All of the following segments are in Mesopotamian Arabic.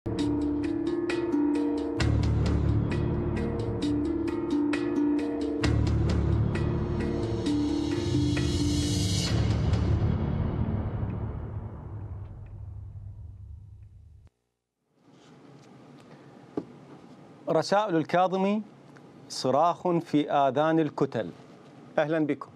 رسائل الكاظمي صراخ في آذان الكتل. أهلا بكم.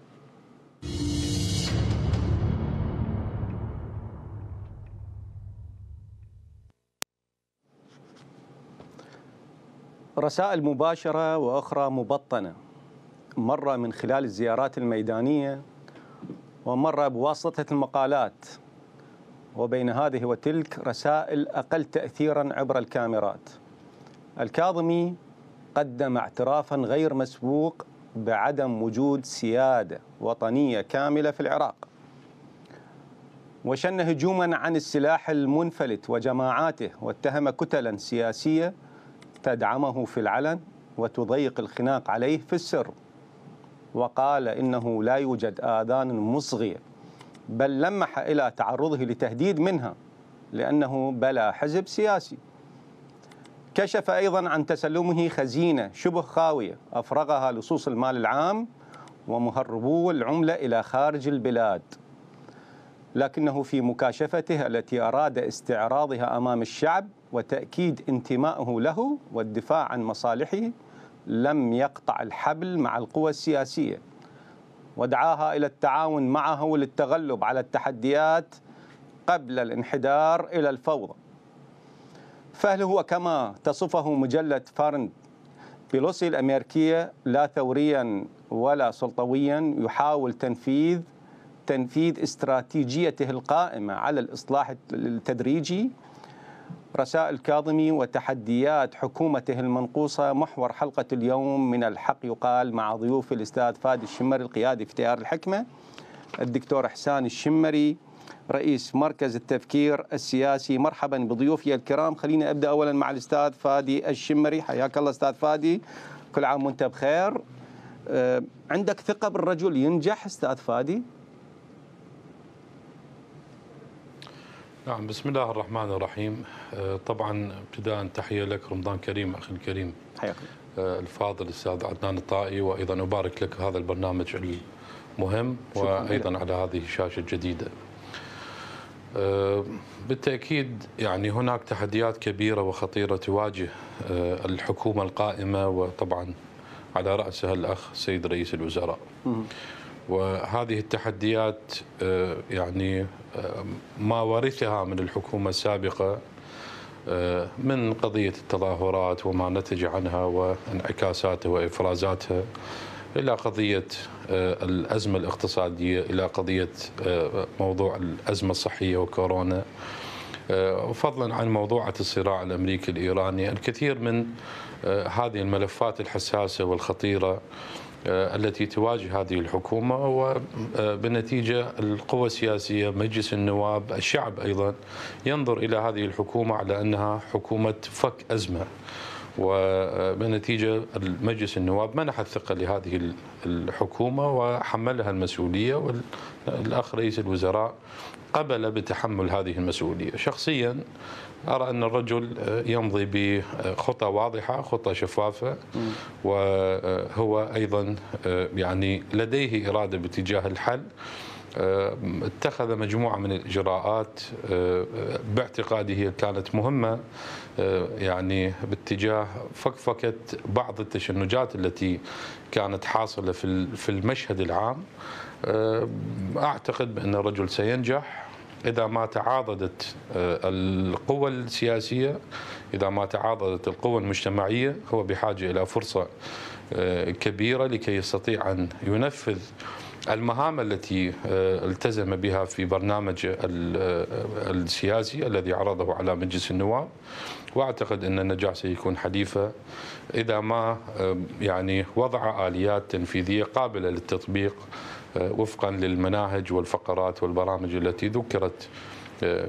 رسائل مباشرة وأخرى مبطنة، مرة من خلال الزيارات الميدانية ومرة بواسطة المقالات، وبين هذه وتلك رسائل أقل تأثيرا عبر الكاميرات. الكاظمي قدم اعترافا غير مسبوق بعدم وجود سيادة وطنية كاملة في العراق، وشن هجوما عن السلاح المنفلت وجماعاته، واتهم كتلا سياسية تدعمه في العلن وتضيق الخناق عليه في السر، وقال إنه لا يوجد آذان مصغية، بل لمح إلى تعرضه لتهديد منها لأنه بلا حزب سياسي. كشف أيضا عن تسلمه خزينة شبه خاوية أفرغها لصوص المال العام ومهربو العملة إلى خارج البلاد، لكنه في مكاشفته التي أراد استعراضها أمام الشعب وتأكيد انتمائه له والدفاع عن مصالحه لم يقطع الحبل مع القوى السياسية، ودعاها إلى التعاون معه للتغلب على التحديات قبل الانحدار إلى الفوضى. فهل هو كما تصفه مجلة فارن بيلوسي الأمريكية لا ثوريا ولا سلطويا يحاول تنفيذ استراتيجيته القائمة على الإصلاح التدريجي؟ رسائل الكاظمي وتحديات حكومته المنقوصة محور حلقة اليوم من الحق يقال، مع ضيوف الأستاذ فادي الشمري القيادي في تيار الحكمة، الدكتور إحسان الشمري رئيس مركز التفكير السياسي. مرحبا بضيوفي الكرام. خليني أبدأ أولا مع الأستاذ فادي الشمري. حياك الله أستاذ فادي، كل عام وأنت بخير. عندك ثقة بالرجل ينجح أستاذ فادي؟ نعم، بسم الله الرحمن الرحيم. طبعا ابتداء تحية لك، رمضان كريم أخي الكريم. حياك الفاضل الأستاذ عدنان الطائي، وأيضا أبارك لك هذا البرنامج المهم وأيضا على هذه الشاشة الجديدة. بالتأكيد يعني هناك تحديات كبيرة وخطيرة تواجه الحكومة القائمة، وطبعا على رأسها الأخ سيد رئيس الوزراء. وهذه التحديات يعني ما ورثها من الحكومة السابقة من قضية التظاهرات وما نتج عنها وانعكاساتها وإفرازاتها، إلى قضية الأزمة الاقتصادية، إلى قضية موضوع الأزمة الصحية وكورونا، وفضلا عن موضوعة الصراع الأمريكي الإيراني. الكثير من هذه الملفات الحساسة والخطيرة التي تواجه هذه الحكومة، وبالنتيجة القوى السياسية، مجلس النواب، الشعب أيضا ينظر إلى هذه الحكومة على أنها حكومة فك أزمة، وبالنتيجة المجلس النواب منح الثقة لهذه الحكومة وحملها المسؤولية، والأخ رئيس الوزراء قبل بتحمل هذه المسؤولية. شخصيا أرى أن الرجل يمضي بخطى واضحة، خطى شفافة، وهو أيضا يعني لديه إرادة باتجاه الحل. اتخذ مجموعة من الإجراءات باعتقادي كانت مهمة، يعني باتجاه فكفكة بعض التشنجات التي كانت حاصلة في المشهد العام. أعتقد بأن الرجل سينجح إذا ما تعاضدت القوى السياسية، إذا ما تعاضدت القوى المجتمعية. هو بحاجة إلى فرصة كبيرة لكي يستطيع أن ينفذ المهام التي التزم بها في برنامج السياسي الذي عرضه على مجلس النواب. واعتقد ان النجاح سيكون حليفه اذا ما يعني وضع اليات تنفيذيه قابله للتطبيق وفقا للمناهج والفقرات والبرامج التي ذكرت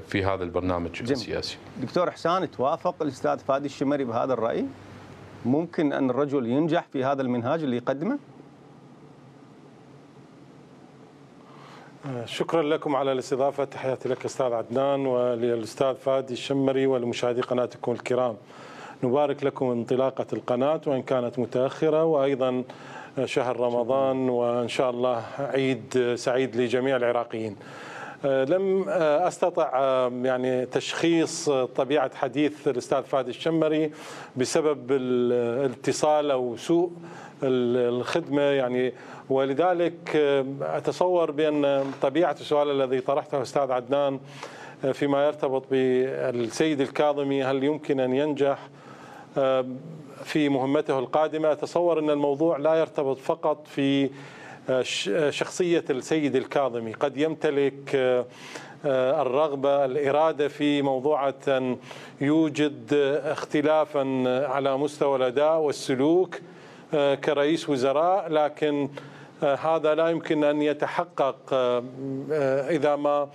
في هذا البرنامج السياسي. دكتور إحسان، توافق الأستاذ فادي الشمري بهذا الرأي؟ ممكن أن الرجل ينجح في هذا المنهاج اللي يقدمه؟ شكرا لكم على الاستضافة. تحياتي لك أستاذ عدنان وللأستاذ فادي الشمري ولمشاهدي قناتكم الكرام. نبارك لكم انطلاقة القناة وإن كانت متأخرة، وأيضا شهر رمضان، وإن شاء الله عيد سعيد لجميع العراقيين. لم أستطع يعني تشخيص طبيعة حديث الأستاذ فادي الشمري بسبب الاتصال أو سوء الخدمة يعني، ولذلك أتصور بأن طبيعة السؤال الذي طرحته أستاذ عدنان فيما يرتبط بالسيد الكاظمي هل يمكن أن ينجح في مهمته القادمة، أتصور أن الموضوع لا يرتبط فقط في شخصية السيد الكاظمي. قد يمتلك الرغبة الإرادة في موضوع أن يوجد اختلافا على مستوى الأداء والسلوك كرئيس وزراء، لكن هذا لا يمكن أن يتحقق إذا ما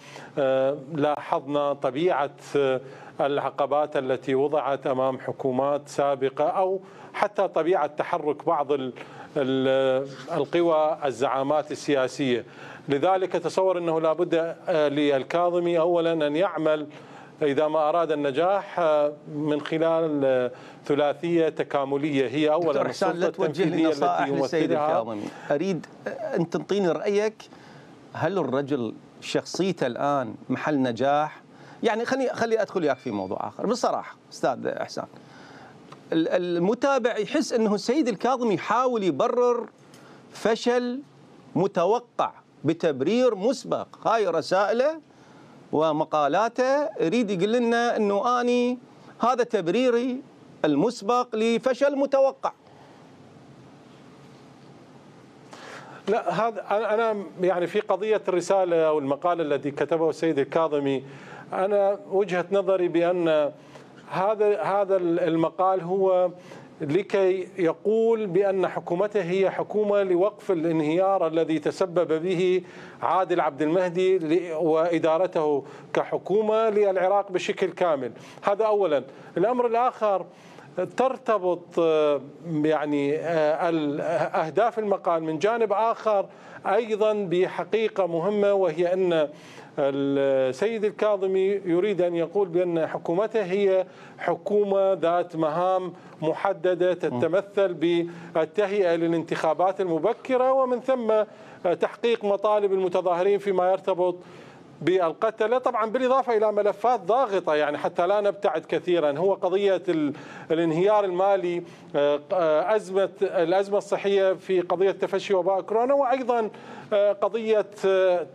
لاحظنا طبيعة العقبات التي وضعت أمام حكومات سابقة، أو حتى طبيعة تحرك بعض القوى الزعامات السياسية. لذلك أتصور أنه لا بد للكاظمي أولا أن يعمل إذا ما أراد النجاح من خلال ثلاثية تكاملية. هي أولا دكتور حسان، لا توجه لي نصائح للسيد الكاظمي، أريد أن تعطيني رأيك. هل الرجل شخصيته الآن محل نجاح؟ يعني خلي أدخل وياك في موضوع آخر بصراحة أستاذ حسان. المتابع يحس أنه السيد الكاظمي يحاول يبرر فشل متوقع بتبرير مسبق. هاي رسائله ومقالاته يريد يقول لنا أنه أني هذا تبريري المسبق لفشل متوقع. لا، هذا أنا يعني في قضية الرسالة أو المقال الذي كتبه السيد الكاظمي، أنا وجهة نظري بأن هذا المقال هو لكي يقول بأن حكومته هي حكومة لوقف الانهيار الذي تسبب به عادل عبد المهدي وإدارته كحكومة للعراق بشكل كامل. هذا أولا. الأمر الآخر ترتبط يعني أهداف المقال من جانب آخر أيضا بحقيقة مهمة، وهي أن السيد الكاظمي يريد أن يقول بأن حكومته هي حكومة ذات مهام محددة تتمثل بالتهيئة للانتخابات المبكرة، ومن ثم تحقيق مطالب المتظاهرين فيما يرتبط بالقتلة، طبعا بالإضافة إلى ملفات ضاغطة يعني حتى لا نبتعد كثيرا. هو قضية الانهيار المالي، الأزمة الصحية في قضية تفشي وباء كورونا، وأيضا قضية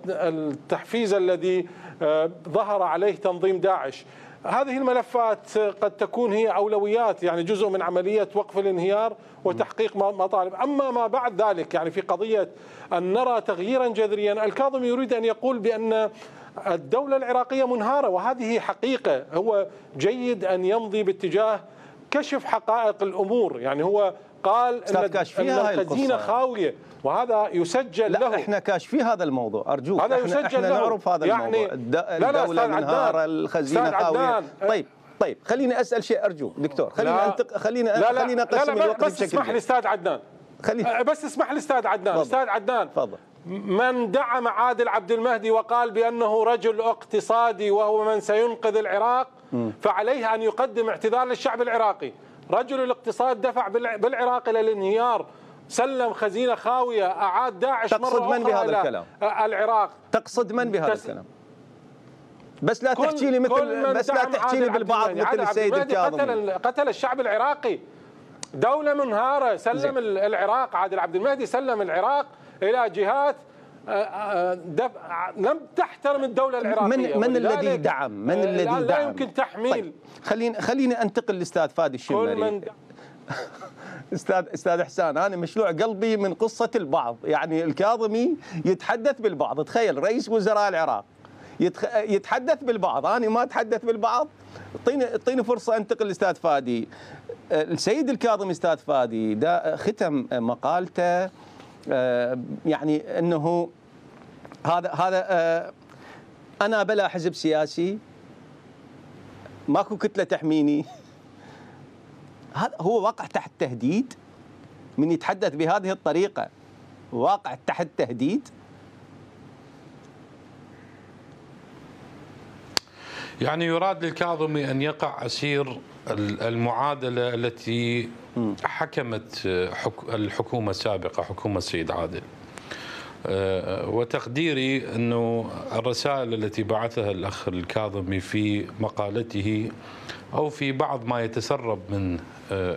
التحفيز الذي ظهر عليه تنظيم داعش. هذه الملفات قد تكون هي أولويات، يعني جزء من عملية وقف الانهيار وتحقيق مطالب. أما ما بعد ذلك يعني في قضية أن نرى تغييرا جذريا، الكاظمي يريد أن يقول بأن الدولة العراقية منهارة، وهذه حقيقة. هو جيد أن يمضي باتجاه كشف حقائق الأمور. يعني هو قال أن الخزينة خاوية، وهذا يسجل له. احنا كاشفين هذا الموضوع، ارجوك. هذا يسجل احنا له. نعرف هذا يعني الموضوع. الدولة منهارة، الخزينة خاوية. طيب خليني اسال شيء ارجوك دكتور. خليني اقسم الوقت بس اسمح لي استاذ عدنان. بس اسمح لي استاذ عدنان. استاذ عدنان، تفضل. من دعم عادل عبد المهدي وقال بأنه رجل اقتصادي وهو من سينقذ العراق، فعليه أن يقدم اعتذار للشعب العراقي. رجل الاقتصاد دفع بالعراق إلى الانهيار، سلم خزينة خاوية، أعاد داعش مرة أخرى. تقصد من بهذا الكلام؟ العراق. تقصد من بهذا الكلام؟ بس لا تحكي لي بالبعض مثل السيد الكاظمي. قتل الشعب العراقي. دولة منهارة، سلم العراق. عادل عبد المهدي سلم العراق إلى جهات لم تحترم الدولة العراقية. من الذي دعم؟ من الذي دعم؟ لا يمكن تحميل. طيب خليني انتقل للاستاذ فادي الشمري. استاذ حسان، انا مشلوع قلبي من قصة البعض. يعني الكاظمي يتحدث بالبعض، تخيل رئيس وزراء العراق يتحدث بالبعض، انا ما اتحدث بالبعض. اعطيني فرصة انتقل للاستاذ فادي. السيد الكاظمي استاذ فادي ده ختم مقالته يعني انه هذا انا بلا حزب سياسي، ماكو كتله تحميني. هذا هو واقع تحت تهديد من يتحدث بهذه الطريقه، واقع تحت تهديد. يعني يراد للكاظمي أن يقع أسير المعادلة التي حكمت الحكومة السابقة، حكومة السيد عادل. وتقديري أنه الرسائل التي بعثها الأخ الكاظمي في مقالته أو في بعض ما يتسرب من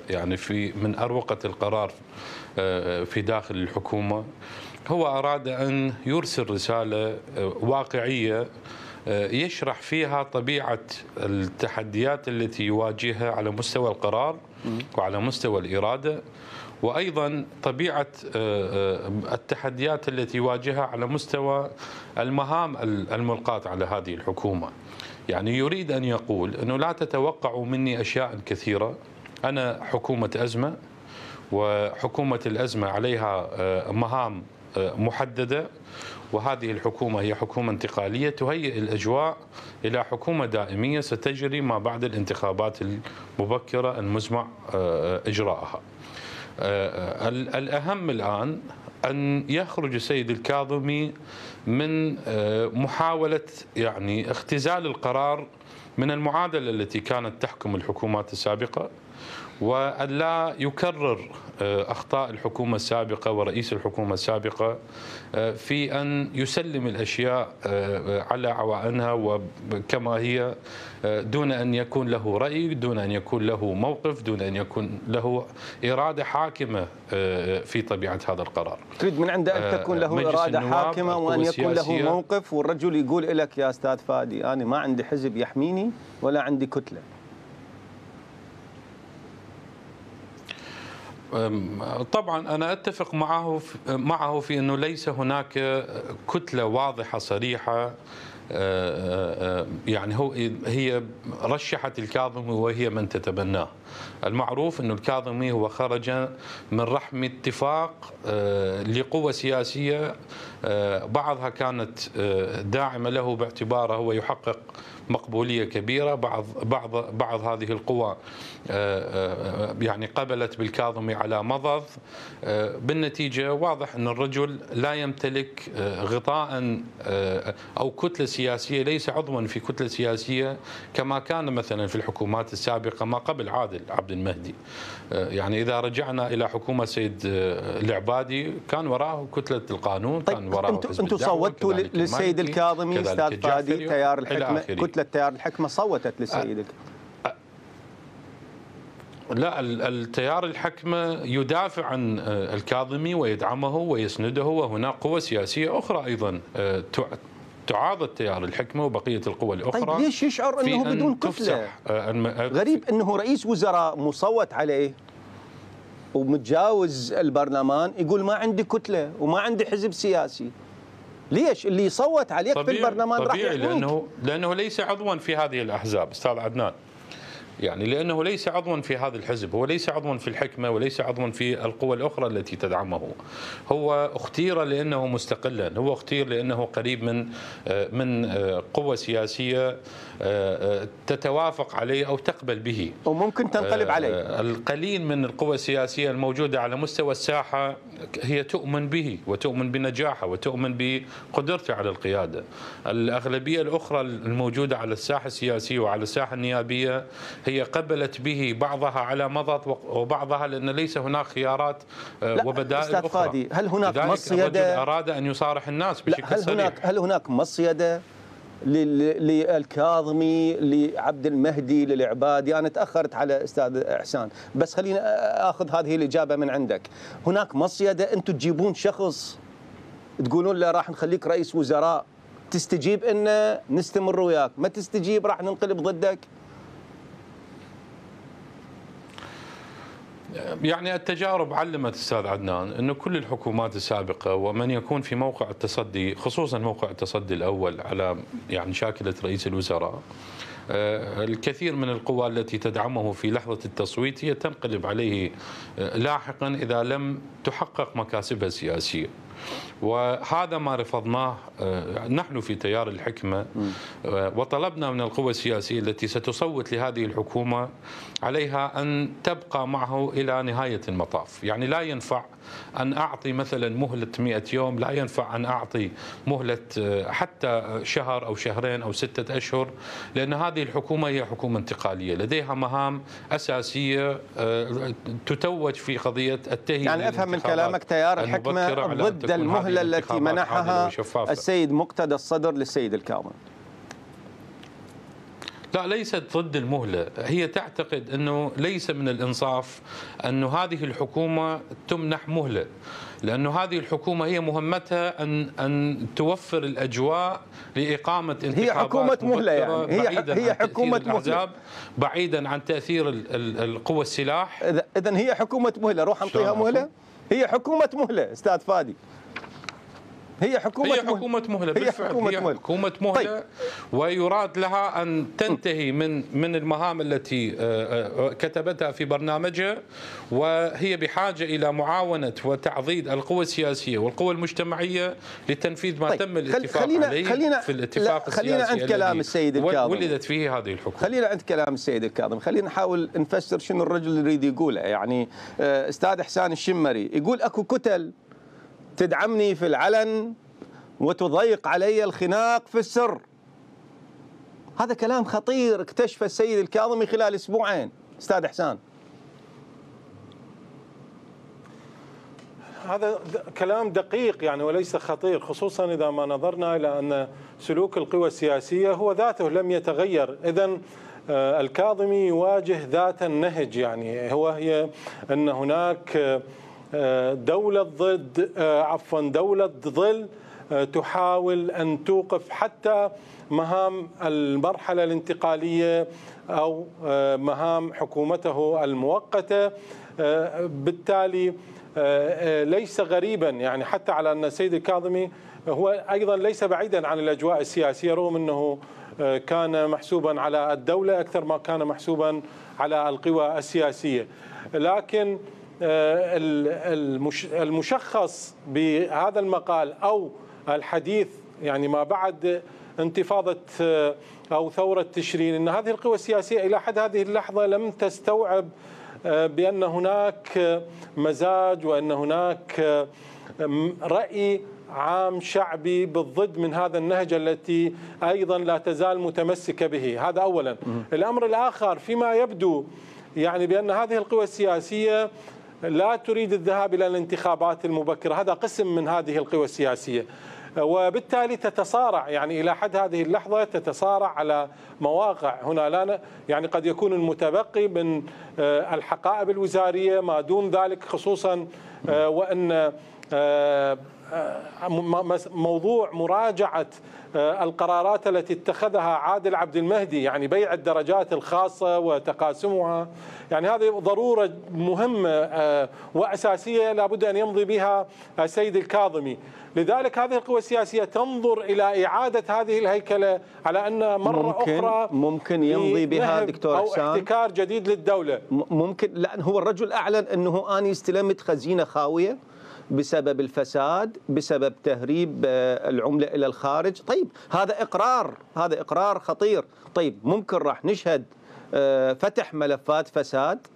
يعني من أروقة القرار في داخل الحكومة، هو أراد أن يرسل رسالة واقعية يشرح فيها طبيعة التحديات التي يواجهها على مستوى القرار وعلى مستوى الإرادة، وأيضا طبيعة التحديات التي يواجهها على مستوى المهام الملقاة على هذه الحكومة. يعني يريد أن يقول أنه لا تتوقعوا مني أشياء كثيرة، أنا حكومة أزمة، وحكومة الأزمة عليها مهام محددة، وهذه الحكومة هي حكومة انتقالية تهيئ الأجواء إلى حكومة دائمية ستجري ما بعد الانتخابات المبكرة المزمع إجراءها. الأهم الآن أن يخرج السيد الكاظمي من محاولة يعني اختزال القرار من المعادلة التي كانت تحكم الحكومات السابقة، وأن لا يكرر أخطاء الحكومة السابقة ورئيس الحكومة السابقة في أن يسلم الأشياء على عوائنها وكما هي، دون أن يكون له رأي، دون أن يكون له موقف، دون أن يكون له إرادة حاكمة في طبيعة هذا القرار. تريد من عنده أن تكون له إرادة حاكمة وأن يكون له موقف، والرجل يقول لك يا أستاذ فادي أنا ما عندي حزب يحميني ولا عندي كتلة. طبعا أنا أتفق معه في أنه ليس هناك كتلة واضحة صريحة. يعني هي رشحت الكاظمي وهي من تتبناه. المعروف أن الكاظمي هو خرج من رحم اتفاق لقوى سياسية، بعضها كانت داعمة له باعتباره هو يحقق مقبولية كبيرة، بعض هذه القوى يعني قبلت بالكاظمي على مضض. بالنتيجة واضح أن الرجل لا يمتلك غطاء أو كتلة سياسية، ليس عضوا في كتلة سياسية كما كان مثلا في الحكومات السابقة ما قبل عبد المهدي. يعني إذا رجعنا إلى حكومة سيد العبادي كان وراءه كتلة القانون، طيب كان وراءه حزب أنتم صوتوا للسيد الكاظمي أستاذ فادي، تيار الحكمة، كتلة تيار الحكمة صوتت للسيد الكاظمي. لا، التيار الحكمة يدافع عن الكاظمي ويدعمه ويسنده، وهناك قوى سياسية أخرى أيضا تعارض تيار الحكمة وبقية القوى الأخرى. طيب ليش يشعر أنه بدون كتلة؟ غريب أنه رئيس وزراء مصوت عليه ومتجاوز البرلمان يقول ما عندي كتلة وما عندي حزب سياسي. ليش؟ اللي يصوت عليك في البرلمان راح يحميك. لأنه ليس عضوا في هذه الأحزاب أستاذ عدنان. يعني لأنه ليس عضوا في هذا الحزب، هو ليس عضوا في الحكمة وليس عضوا في القوى الأخرى التي تدعمه. هو اختير لأنه مستقلا، هو اختير لأنه قريب من قوى سياسية تتوافق عليه أو تقبل به وممكن تنقلب عليه. القليل من القوى السياسية الموجودة على مستوى الساحة هي تؤمن به وتؤمن بنجاحه وتؤمن بقدرته على القيادة. الأغلبية الأخرى الموجودة على الساحة السياسية وعلى الساحة النيابية هي قبلت به، بعضها على مضض وبعضها لأن ليس هناك خيارات وبدائل أخرى. فادي، هل هناك مصيدة؟ أراد أن يصارح الناس بشكل صريح. هل هناك مصيدة للكاظمي، لعبد المهدي، للعبادي؟ أنا تأخرت على أستاذ إحسان، بس خلينا أخذ هذه الإجابة من عندك. هناك مصيدة أنتم تجيبون شخص تقولون له راح نخليك رئيس وزراء، تستجيب إنه نستمر وياك، ما تستجيب راح ننقلب ضدك؟ يعني التجارب علمت أستاذ عدنان أنه كل الحكومات السابقة ومن يكون في موقع التصدي، خصوصا موقع التصدي الأول على يعني شاكلة رئيس الوزراء، الكثير من القوى التي تدعمه في لحظة التصويت هي تنقلب عليه لاحقا إذا لم تحقق مكاسبها السياسية. وهذا ما رفضناه نحن في تيار الحكمة، وطلبنا من القوى السياسية التي ستصوت لهذه الحكومة عليها أن تبقى معه إلى نهاية المطاف. يعني لا ينفع أن أعطي مثلا مهلة 100 يوم، لا ينفع أن أعطي مهلة حتى شهر أو شهرين أو 6 أشهر، لأن هذه الحكومة هي حكومة انتقالية لديها مهام أساسية تتوج في قضية التهيئة. يعني أفهم من كلامك تيار الحكمة ضد المهلة التي منحها السيد مقتدى الصدر للسيد الكاظمي. لا، ليست ضد المهلة، هي تعتقد أنه ليس من الإنصاف أنه هذه الحكومة تمنح مهلة، لأنه هذه الحكومة هي مهمتها أن توفر الأجواء لإقامة انتخابات. هي حكومة مهلة، يعني هي حكومة مهلة بعيدا عن تأثير القوى السلاح. إذن هي حكومة مهلة، روح نعطيها مهلة. هي حكومة مهلة أستاذ فادي، هي حكومة مهلة بالفعل، هي حكومة مهلة. طيب. ويراد لها أن تنتهي من المهام التي كتبتها في برنامجها، وهي بحاجة إلى معاونة وتعضيد القوى السياسية والقوى المجتمعية لتنفيذ ما تم الاتفاق عليه في الاتفاق السياسي. خلينا عند كلام السيد الكاظمي، ولدت فيه هذه الحكومة. خلينا عند كلام السيد الكاظمي، خلينا نحاول نفسر شنو الرجل يريد يقوله. يعني أستاذ إحسان الشمري يقول أكو كتل تدعمني في العلن وتضيق علي الخناق في السر. هذا كلام خطير اكتشف السيد الكاظمي خلال أسبوعين. أستاذ إحسان، هذا كلام دقيق يعني وليس خطير، خصوصا إذا ما نظرنا إلى أن سلوك القوى السياسية هو ذاته لم يتغير. إذن الكاظمي يواجه ذات النهج، يعني هي أن هناك دولة ظل تحاول أن توقف حتى مهام المرحلة الانتقالية أو مهام حكومته المؤقتة. بالتالي ليس غريبا يعني حتى على أن السيد الكاظمي هو أيضا ليس بعيدا عن الأجواء السياسية، رغم أنه كان محسوبا على الدولة أكثر ما كان محسوبا على القوى السياسية. لكن المشخص بهذا المقال أو الحديث يعني ما بعد انتفاضة أو ثورة تشرين، أن هذه القوى السياسية إلى حد هذه اللحظة لم تستوعب بأن هناك مزاج وأن هناك رأي عام شعبي بالضد من هذا النهج التي أيضا لا تزال متمسكة به. هذا أولا. الأمر الآخر فيما يبدو يعني بأن هذه القوى السياسية لا تريد الذهاب إلى الانتخابات المبكرة، هذا قسم من هذه القوى السياسية، وبالتالي تتصارع يعني إلى حد هذه اللحظة تتصارع على مواقع. هنا لا يعني قد يكون المتبقي من الحقائب الوزارية ما دون ذلك، خصوصا وأن موضوع مراجعة القرارات التي اتخذها عادل عبد المهدي، يعني بيع الدرجات الخاصة وتقاسمها، يعني هذه ضرورة مهمة وأساسية لابد أن يمضي بها السيد الكاظمي. لذلك هذه القوى السياسية تنظر إلى إعادة هذه الهيكلة على أن مرة أخرى ممكن يمضي بها دكتور إحسان أو احتكار جديد للدولة. ممكن، لأن هو الرجل أعلن أنه أنا استلمت خزينة خاوية بسبب الفساد، بسبب تهريب العملة إلى الخارج. طيب هذا إقرار خطير. طيب ممكن راح نشهد فتح ملفات فساد؟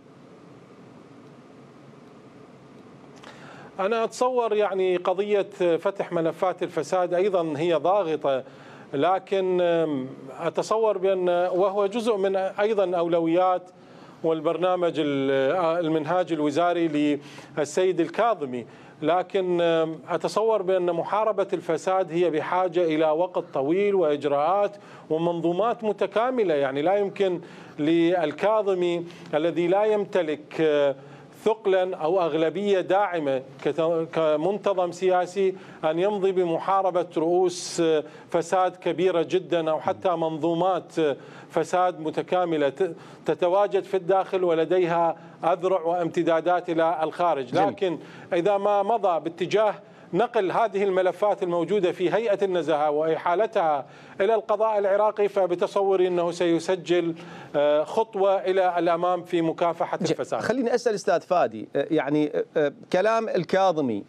أنا أتصور يعني قضية فتح ملفات الفساد أيضا هي ضاغطة، لكن أتصور بأن وهو جزء من أيضا أولويات والبرنامج المنهاج الوزاري للسيد الكاظمي، لكن أتصور بأن محاربة الفساد هي بحاجة إلى وقت طويل وإجراءات ومنظومات متكاملة. يعني لا يمكن للكاظمي الذي لا يمتلك ثقلا أو أغلبية داعمة كمنتظم سياسي أن يمضي بمحاربة رؤوس فساد كبيرة جدا أو حتى منظومات فساد متكاملة تتواجد في الداخل ولديها أذرع وامتدادات إلى الخارج. لكن إذا ما مضى باتجاه نقل هذه الملفات الموجودة في هيئة النزاهة وإحالتها إلى القضاء العراقي، فبتصوري أنه سيسجل خطوة إلى الأمام في مكافحة الفساد. خليني أسأل أستاذ فادي، يعني كلام الكاظمي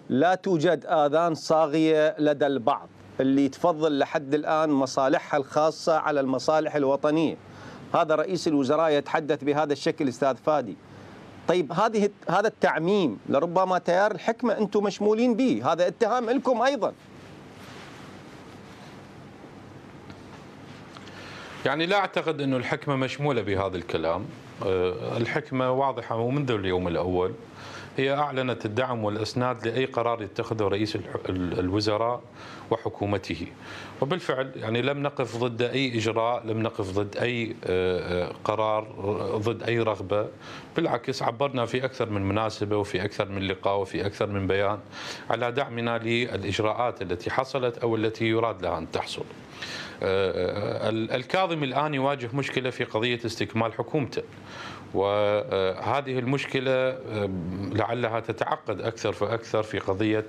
لا توجد آذان صاغية لدى البعض اللي تفضل لحد الآن مصالحها الخاصة على المصالح الوطنية. هذا رئيس الوزراء يتحدث بهذا الشكل أستاذ فادي. طيب هذا التعميم لربما تيار الحكمة أنتم مشمولين به، هذا اتهام لكم أيضا. يعني لا أعتقد أن الحكمة مشمولة بهذا الكلام. الحكمة واضحة ومنذ اليوم الأول هي أعلنت الدعم والإسناد لأي قرار يتخذه رئيس الوزراء وحكومته، وبالفعل يعني لم نقف ضد أي إجراء، لم نقف ضد أي قرار، ضد أي رغبة. بالعكس عبرنا في أكثر من مناسبة وفي أكثر من لقاء وفي أكثر من بيان على دعمنا للإجراءات التي حصلت أو التي يراد لها أن تحصل. الكاظمي الآن يواجه مشكلة في قضية استكمال حكومته، وهذه المشكلة لعلها تتعقد أكثر فأكثر في قضية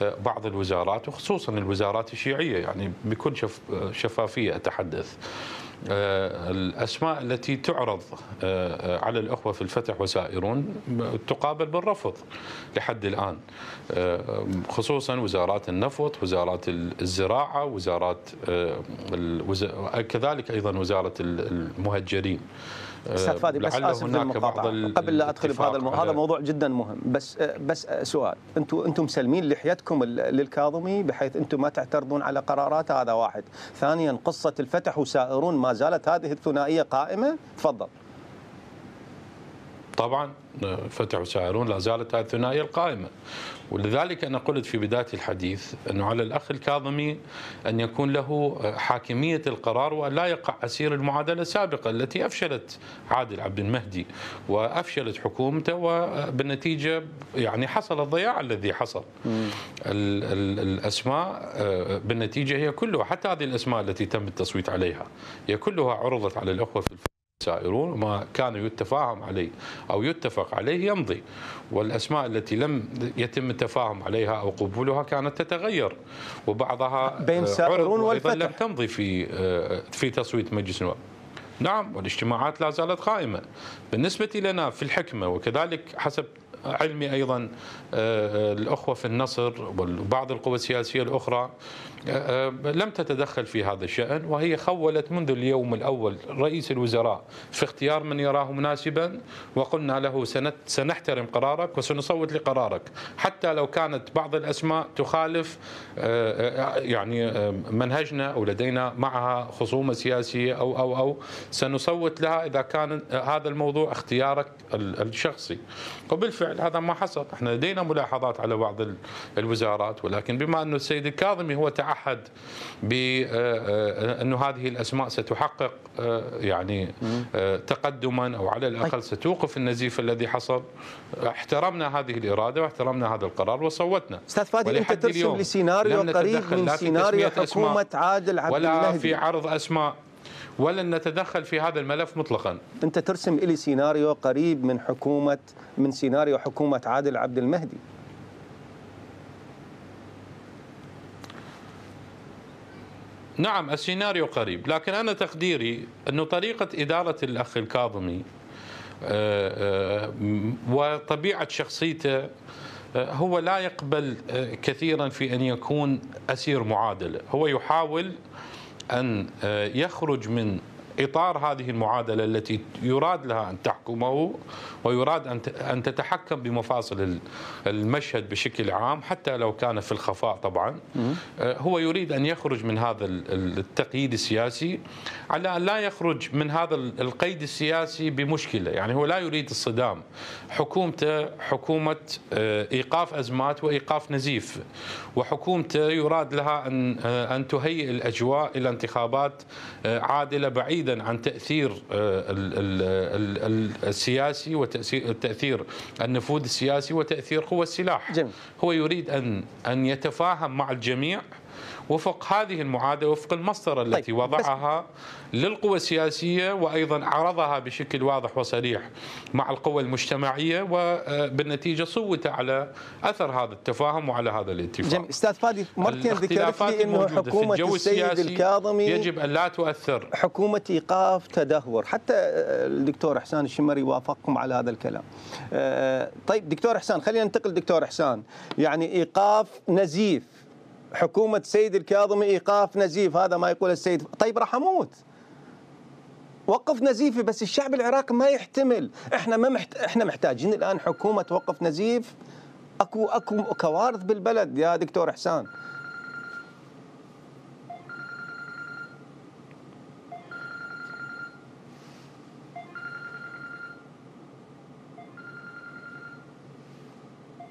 بعض الوزارات وخصوصا الوزارات الشيعية، يعني بكل شفافية أتحدث. الأسماء التي تعرض على الأخوة في الفتح وسائرون تقابل بالرفض لحد الآن، خصوصا وزارات النفط، وزارات الزراعة، وزارات كذلك أيضا وزارة المهجرين. استاذ فادي بس اسف في المقاطعه قبل لا ادخل بهذا هذا موضوع جدا مهم، بس سؤال، انتم مسلمين لحيتكم للكاظمي بحيث انتم ما تعترضون على قراراته؟ هذا واحد. ثانيا، قصه الفتح وسائرون ما زالت هذه الثنائيه قائمه؟ تفضل. طبعا فتح وسائرون لا زالت هذه الثنائيه القائمه، ولذلك انا قلت في بدايه الحديث انه على الاخ الكاظمي ان يكون له حاكميه القرار وان لا يقع اسير المعادله السابقه التي افشلت عادل عبد المهدي وافشلت حكومته، وبالنتيجه يعني حصل الضياع الذي حصل. الاسماء بالنتيجه هي كلها، حتى هذه الاسماء التي تم التصويت عليها هي كلها عرضت على الاخوه في سائرون، وما كان يتفاهم عليه أو يتفق عليه يمضي، والأسماء التي لم يتم التفاهم عليها أو قبولها كانت تتغير، وبعضها بين سائرون والفتح لم تمضي في تصويت مجلس النواب. نعم، والاجتماعات لا زالت قائمة. بالنسبة لنا في الحكمة وكذلك حسب علمي أيضا الأخوة في النصر وبعض القوى السياسية الأخرى لم تتدخل في هذا الشأن، وهي خولت منذ اليوم الأول رئيس الوزراء في اختيار من يراه مناسبا، وقلنا له سنحترم قرارك وسنصوت لقرارك حتى لو كانت بعض الأسماء تخالف يعني منهجنا أو لدينا معها خصومة سياسية أو سنصوت لها إذا كان هذا الموضوع اختيارك الشخصي. وبالفعل هذا ما حصل. احنا لدينا ملاحظات على بعض الوزارات، ولكن بما أنه السيد الكاظمي هو تعهد بأنه هذه الأسماء ستحقق يعني تقدما أو على الأقل ستوقف النزيف الذي حصل، احترمنا هذه الإرادة واحترمنا هذا القرار وصوتنا. أستاذ فادي، أنت ترسم لسيناريو قريب من سيناريو حكومة عادل عبد المهدي ولا في عرض أسماء، ولن نتدخل في هذا الملف مطلقا. أنت ترسم لي سيناريو قريب من سيناريو حكومة عادل عبد المهدي. نعم، السيناريو قريب، لكن أنا تقديري أنه طريقة إدارة الأخ الكاظمي وطبيعة شخصيته هو لا يقبل كثيرا في أن يكون أسير معادلة. هو يحاول أن يخرج من إطار هذه المعادلة التي يراد لها أن تحكمه ويراد أن تتحكم بمفاصل المشهد بشكل عام حتى لو كان في الخفاء طبعا. هو يريد أن يخرج من هذا التقييد السياسي على أن لا يخرج من هذا القيد السياسي بمشكلة. يعني هو لا يريد الصدام. حكومته حكومة إيقاف أزمات وإيقاف نزيف، وحكومته يراد لها أن تهيئ الأجواء إلى انتخابات عادلة بعيدة عن تأثير السياسي وتأثير النفوذ السياسي وتأثير قوى السلاح. جميل. هو يريد أن يتفاهم مع الجميع وفق هذه المعادلة، وفق المسطرة التي وضعها للقوى السياسية، وأيضا عرضها بشكل واضح وصريح مع القوى المجتمعية، وبالنتيجة صوت على أثر هذا التفاهم وعلى هذا الاتفاق. جميل. أستاذ فادي، مرتين ذكرت لي أنه حكومة السيد الكاظمي يجب أن لا تؤثر، حكومة إيقاف تدهور، حتى الدكتور إحسان الشمري وافقكم على هذا الكلام. طيب دكتور إحسان، خلينا ننتقل دكتور إحسان، يعني إيقاف نزيف، حكومة السيد الكاظمي إيقاف نزيف، هذا ما يقول السيد. طيب راح أموت، وقف نزيفي، بس الشعب العراقي ما يحتمل. احنا محتاجين الآن حكومة توقف نزيف. اكو كوارث بالبلد يا دكتور إحسان.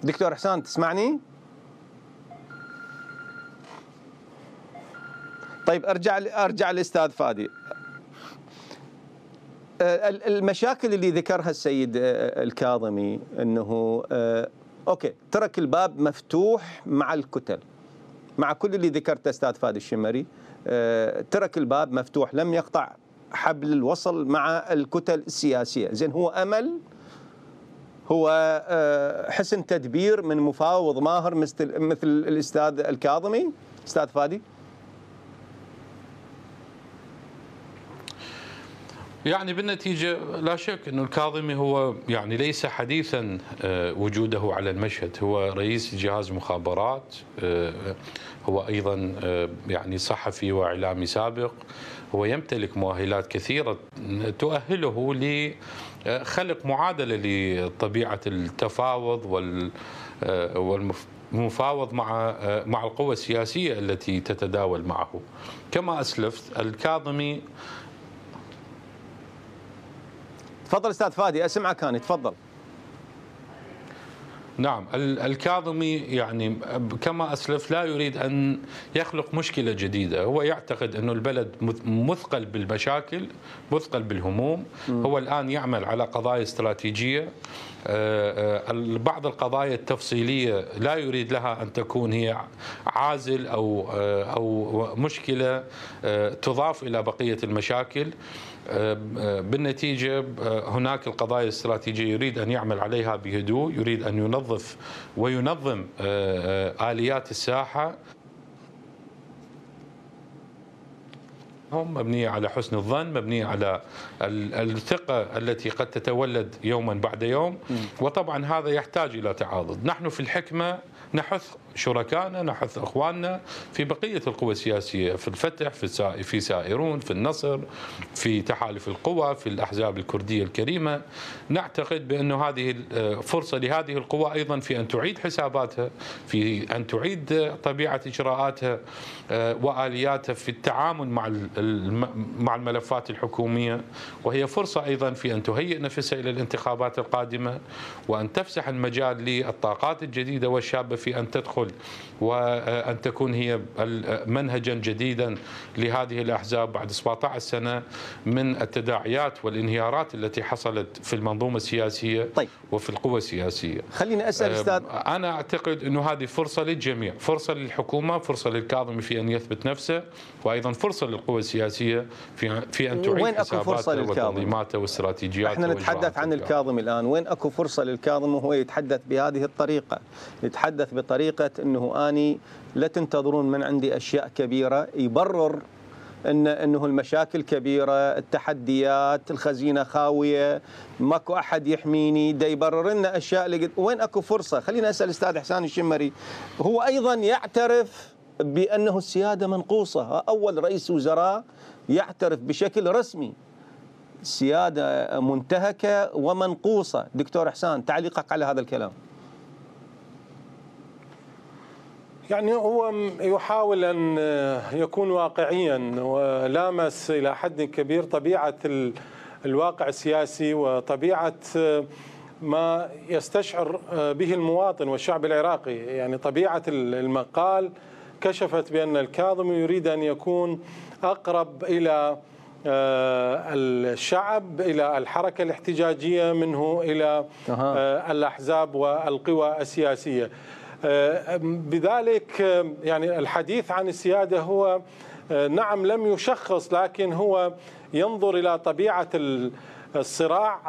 دكتور إحسان تسمعني؟ طيب ارجع للاستاذ فادي. المشاكل اللي ذكرها السيد الكاظمي انه اوكي ترك الباب مفتوح مع الكتل، مع كل اللي ذكرته استاذ فادي الشمري، ترك الباب مفتوح، لم يقطع حبل الوصل مع الكتل السياسية. زين، هو امل، هو حسن تدبير من مفاوض ماهر مثل الاستاذ الكاظمي؟ استاذ فادي. يعني بالنتيجة لا شك أن الكاظمي هو يعني ليس حديثا وجوده على المشهد، هو رئيس جهاز مخابرات، هو أيضا يعني صحفي وإعلامي سابق، هو يمتلك مؤهلات كثيرة تؤهله لخلق معادلة لطبيعة التفاوض والمفاوض مع القوى السياسية التي تتداول معه. كما أسلفت الكاظمي. تفضل استاذ فادي، اسمعك انا، تفضل. نعم، الكاظمي يعني كما أسلف لا يريد أن يخلق مشكلة جديدة، هو يعتقد أن البلد مثقل بالمشاكل، مثقل بالهموم. هو الآن يعمل على قضايا استراتيجية، بعض القضايا التفصيلية لا يريد لها أن تكون هي عازل أو مشكلة تضاف إلى بقية المشاكل. بالنتيجة هناك القضايا الاستراتيجية يريد أن يعمل عليها بهدوء، يريد أن ينظف وينظم آليات الساحة، مبنية على حسن الظن، مبنية على الثقة التي قد تتولد يوما بعد يوم. وطبعا هذا يحتاج إلى تعاضد. نحن في الحكمة نحث شركائنا، نحث اخواننا في بقيه القوى السياسيه، في الفتح، في سائرون، في النصر، في تحالف القوى، في الاحزاب الكرديه الكريمه. نعتقد بانه هذه فرصه لهذه القوى ايضا في ان تعيد حساباتها، في ان تعيد طبيعه اجراءاتها والياتها في التعامل مع الملفات الحكوميه، وهي فرصه ايضا في ان تهيئ نفسها الى الانتخابات القادمه، وان تفسح المجال للطاقات الجديده والشابه في ان تدخل وأن تكون هي منهجا جديدا لهذه الأحزاب بعد 17 سنة من التداعيات والانهيارات التي حصلت في المنظومة السياسية. طيب. وفي القوى السياسية. خليني أسأل أستاذ، أنا أعتقد أنه هذه فرصة للجميع، فرصة للحكومة، فرصة للكاظمي في أن يثبت نفسه، وأيضا فرصة للقوى السياسية في أن تعيد حساباتها وتنظيماتها واستراتيجياتها. احنا نتحدث عن الكاظمي الآن، وين أكو فرصة للكاظمي وهو يتحدث بهذه الطريقة، يتحدث بطريقة أنه أني لا تنتظرون من عندي أشياء كبيرة، يبرر أنه المشاكل كبيرة، التحديات، الخزينة خاوية، ماكو أحد يحميني، دا يبرر لنا أشياء. وين أكو فرصة؟ خلينا أسأل الأستاذ إحسان الشمري، هو أيضا يعترف بأنه السيادة منقوصة، أول رئيس وزراء يعترف بشكل رسمي السيادة منتهكة ومنقوصة. دكتور إحسان، تعليقك على هذا الكلام؟ يعني هو يحاول أن يكون واقعيا، ولامس إلى حد كبير طبيعة الواقع السياسي وطبيعة ما يستشعر به المواطن والشعب العراقي. يعني طبيعة المقال كشفت بأن الكاظمي يريد أن يكون أقرب إلى الشعب، إلى الحركة الاحتجاجية منه إلى الأحزاب والقوى السياسية. بذلك يعني الحديث عن السيادة هو نعم لم يشخص، لكن هو ينظر إلى طبيعة الصراع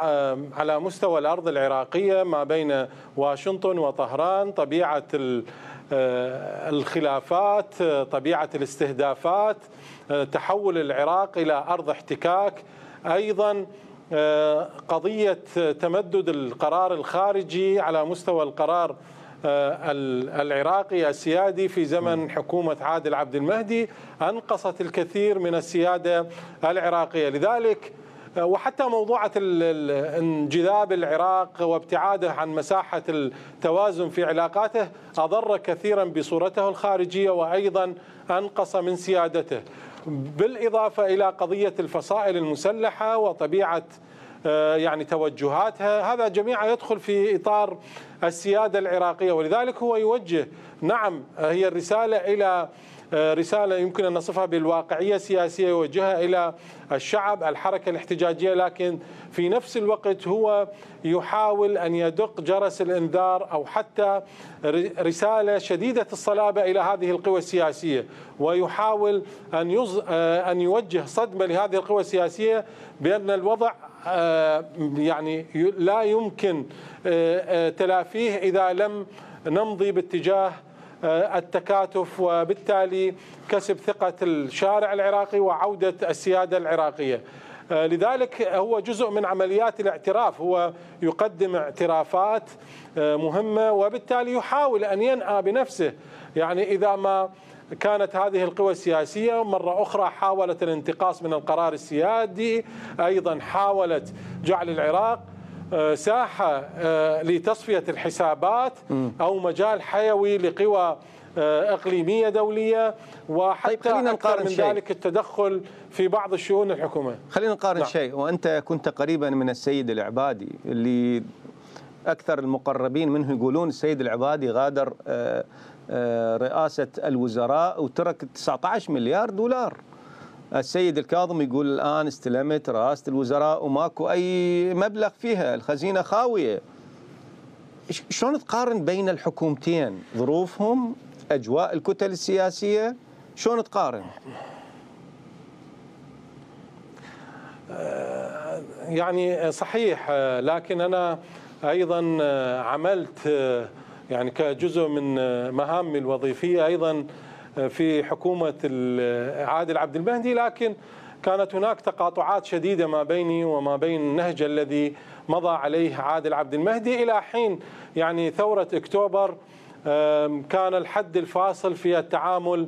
على مستوى الأرض العراقية ما بين واشنطن وطهران، طبيعة الخلافات، طبيعة الاستهدافات، تحول العراق إلى أرض احتكاك، أيضا قضية تمدد القرار الخارجي على مستوى القرار العراقي السيادي في زمن حكومة عادل عبد المهدي أنقصت الكثير من السيادة العراقية. لذلك وحتى موضوعة انجذاب العراق وابتعاده عن مساحة التوازن في علاقاته أضر كثيرا بصورته الخارجية وأيضا أنقص من سيادته، بالإضافة إلى قضية الفصائل المسلحة وطبيعة يعني توجهاتها، هذا جميعا يدخل في إطار السيادة العراقية. ولذلك هو يوجه، نعم هي الرسالة إلى رسالة يمكن أن نصفها بالواقعية السياسية، يوجهها إلى الشعب، الحركة الاحتجاجية، لكن في نفس الوقت هو يحاول أن يدق جرس الإنذار أو حتى رسالة شديدة الصلابة إلى هذه القوى السياسية، ويحاول أن يوجه صدمة لهذه القوى السياسية بأن الوضع يعني لا يمكن تلافيه إذا لم نمضي باتجاه التكاتف، وبالتالي كسب ثقة الشارع العراقي وعودة السيادة العراقية. لذلك هو جزء من عمليات الاعتراف، هو يقدم اعترافات مهمة، وبالتالي يحاول أن ينأى بنفسه. يعني إذا ما كانت هذه القوى السياسية مرة أخرى حاولت الانتقاص من القرار السيادي، أيضا حاولت جعل العراق ساحة لتصفية الحسابات أو مجال حيوي لقوى إقليمية دولية، وحتى خلينا أكثر من ذلك التدخل في بعض الشؤون الحكومة. خلينا نقارن شيء، وأنت كنت قريبا من السيد العبادي اللي أكثر المقربين منه يقولون السيد العبادي غادر رئاسة الوزراء وترك 19 مليار دولار. السيد الكاظم يقول الآن استلمت رئاسة الوزراء وماكو أي مبلغ فيها، الخزينة خاوية. شلون تقارن بين الحكومتين؟ ظروفهم، أجواء الكتل السياسية، شلون تقارن؟ يعني صحيح، لكن أنا أيضا عملت يعني كجزء من مهامي الوظيفية أيضا في حكومة عادل عبد المهدي، لكن كانت هناك تقاطعات شديدة ما بيني وما بين النهج الذي مضى عليه عادل عبد المهدي إلى حين يعني ثورة أكتوبر. كان الحد الفاصل في التعامل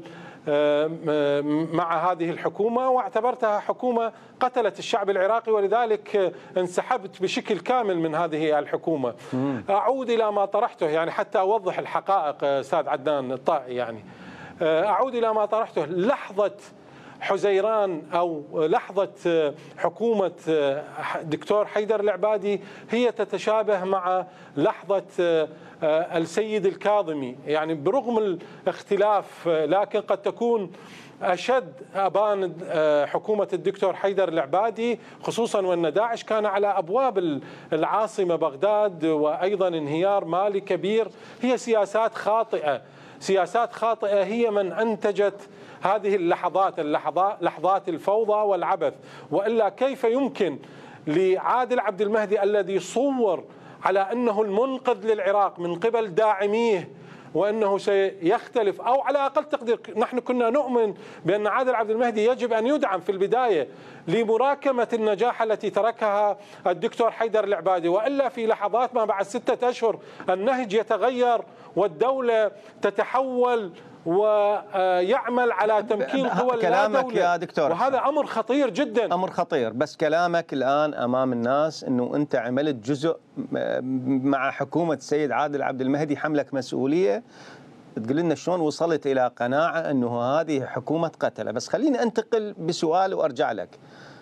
مع هذه الحكومة، واعتبرتها حكومة قتلت الشعب العراقي، ولذلك انسحبت بشكل كامل من هذه الحكومة. أعود إلى ما طرحته يعني حتى أوضح الحقائق أستاذ عدنان الطائي، يعني أعود إلى ما طرحته. لحظة حزيران أو لحظة حكومة دكتور حيدر العبادي هي تتشابه مع لحظة السيد الكاظمي، يعني برغم الاختلاف لكن قد تكون أشد أبان حكومة الدكتور حيدر العبادي، خصوصا وأن داعش كان على أبواب العاصمة بغداد، وأيضا انهيار مالي كبير. هي سياسات خاطئة، سياسات خاطئة هي من أنتجت هذه لحظات الفوضى والعبث. وإلا كيف يمكن لعادل عبد المهدي الذي صور على أنه المنقذ للعراق من قبل داعميه وأنه سيختلف، أو على أقل تقدير نحن كنا نؤمن بأن عادل عبد المهدي يجب أن يدعم في البداية لمراكمة النجاح التي تركها الدكتور حيدر العبادي، وإلا في لحظات ما بعد 6 أشهر النهج يتغير والدولة تتحول ويعمل على تمكين قوى لا دولة. يا دكتور، وهذا أمر خطير جدا، أمر خطير. بس كلامك الآن أمام الناس أنه أنت عملت جزء مع حكومة السيد عادل عبد المهدي حملك مسؤولية، تقول لنا شلون وصلت إلى قناعة أنه هذه حكومة قتلة. بس خليني أنتقل بسؤال وأرجع لك.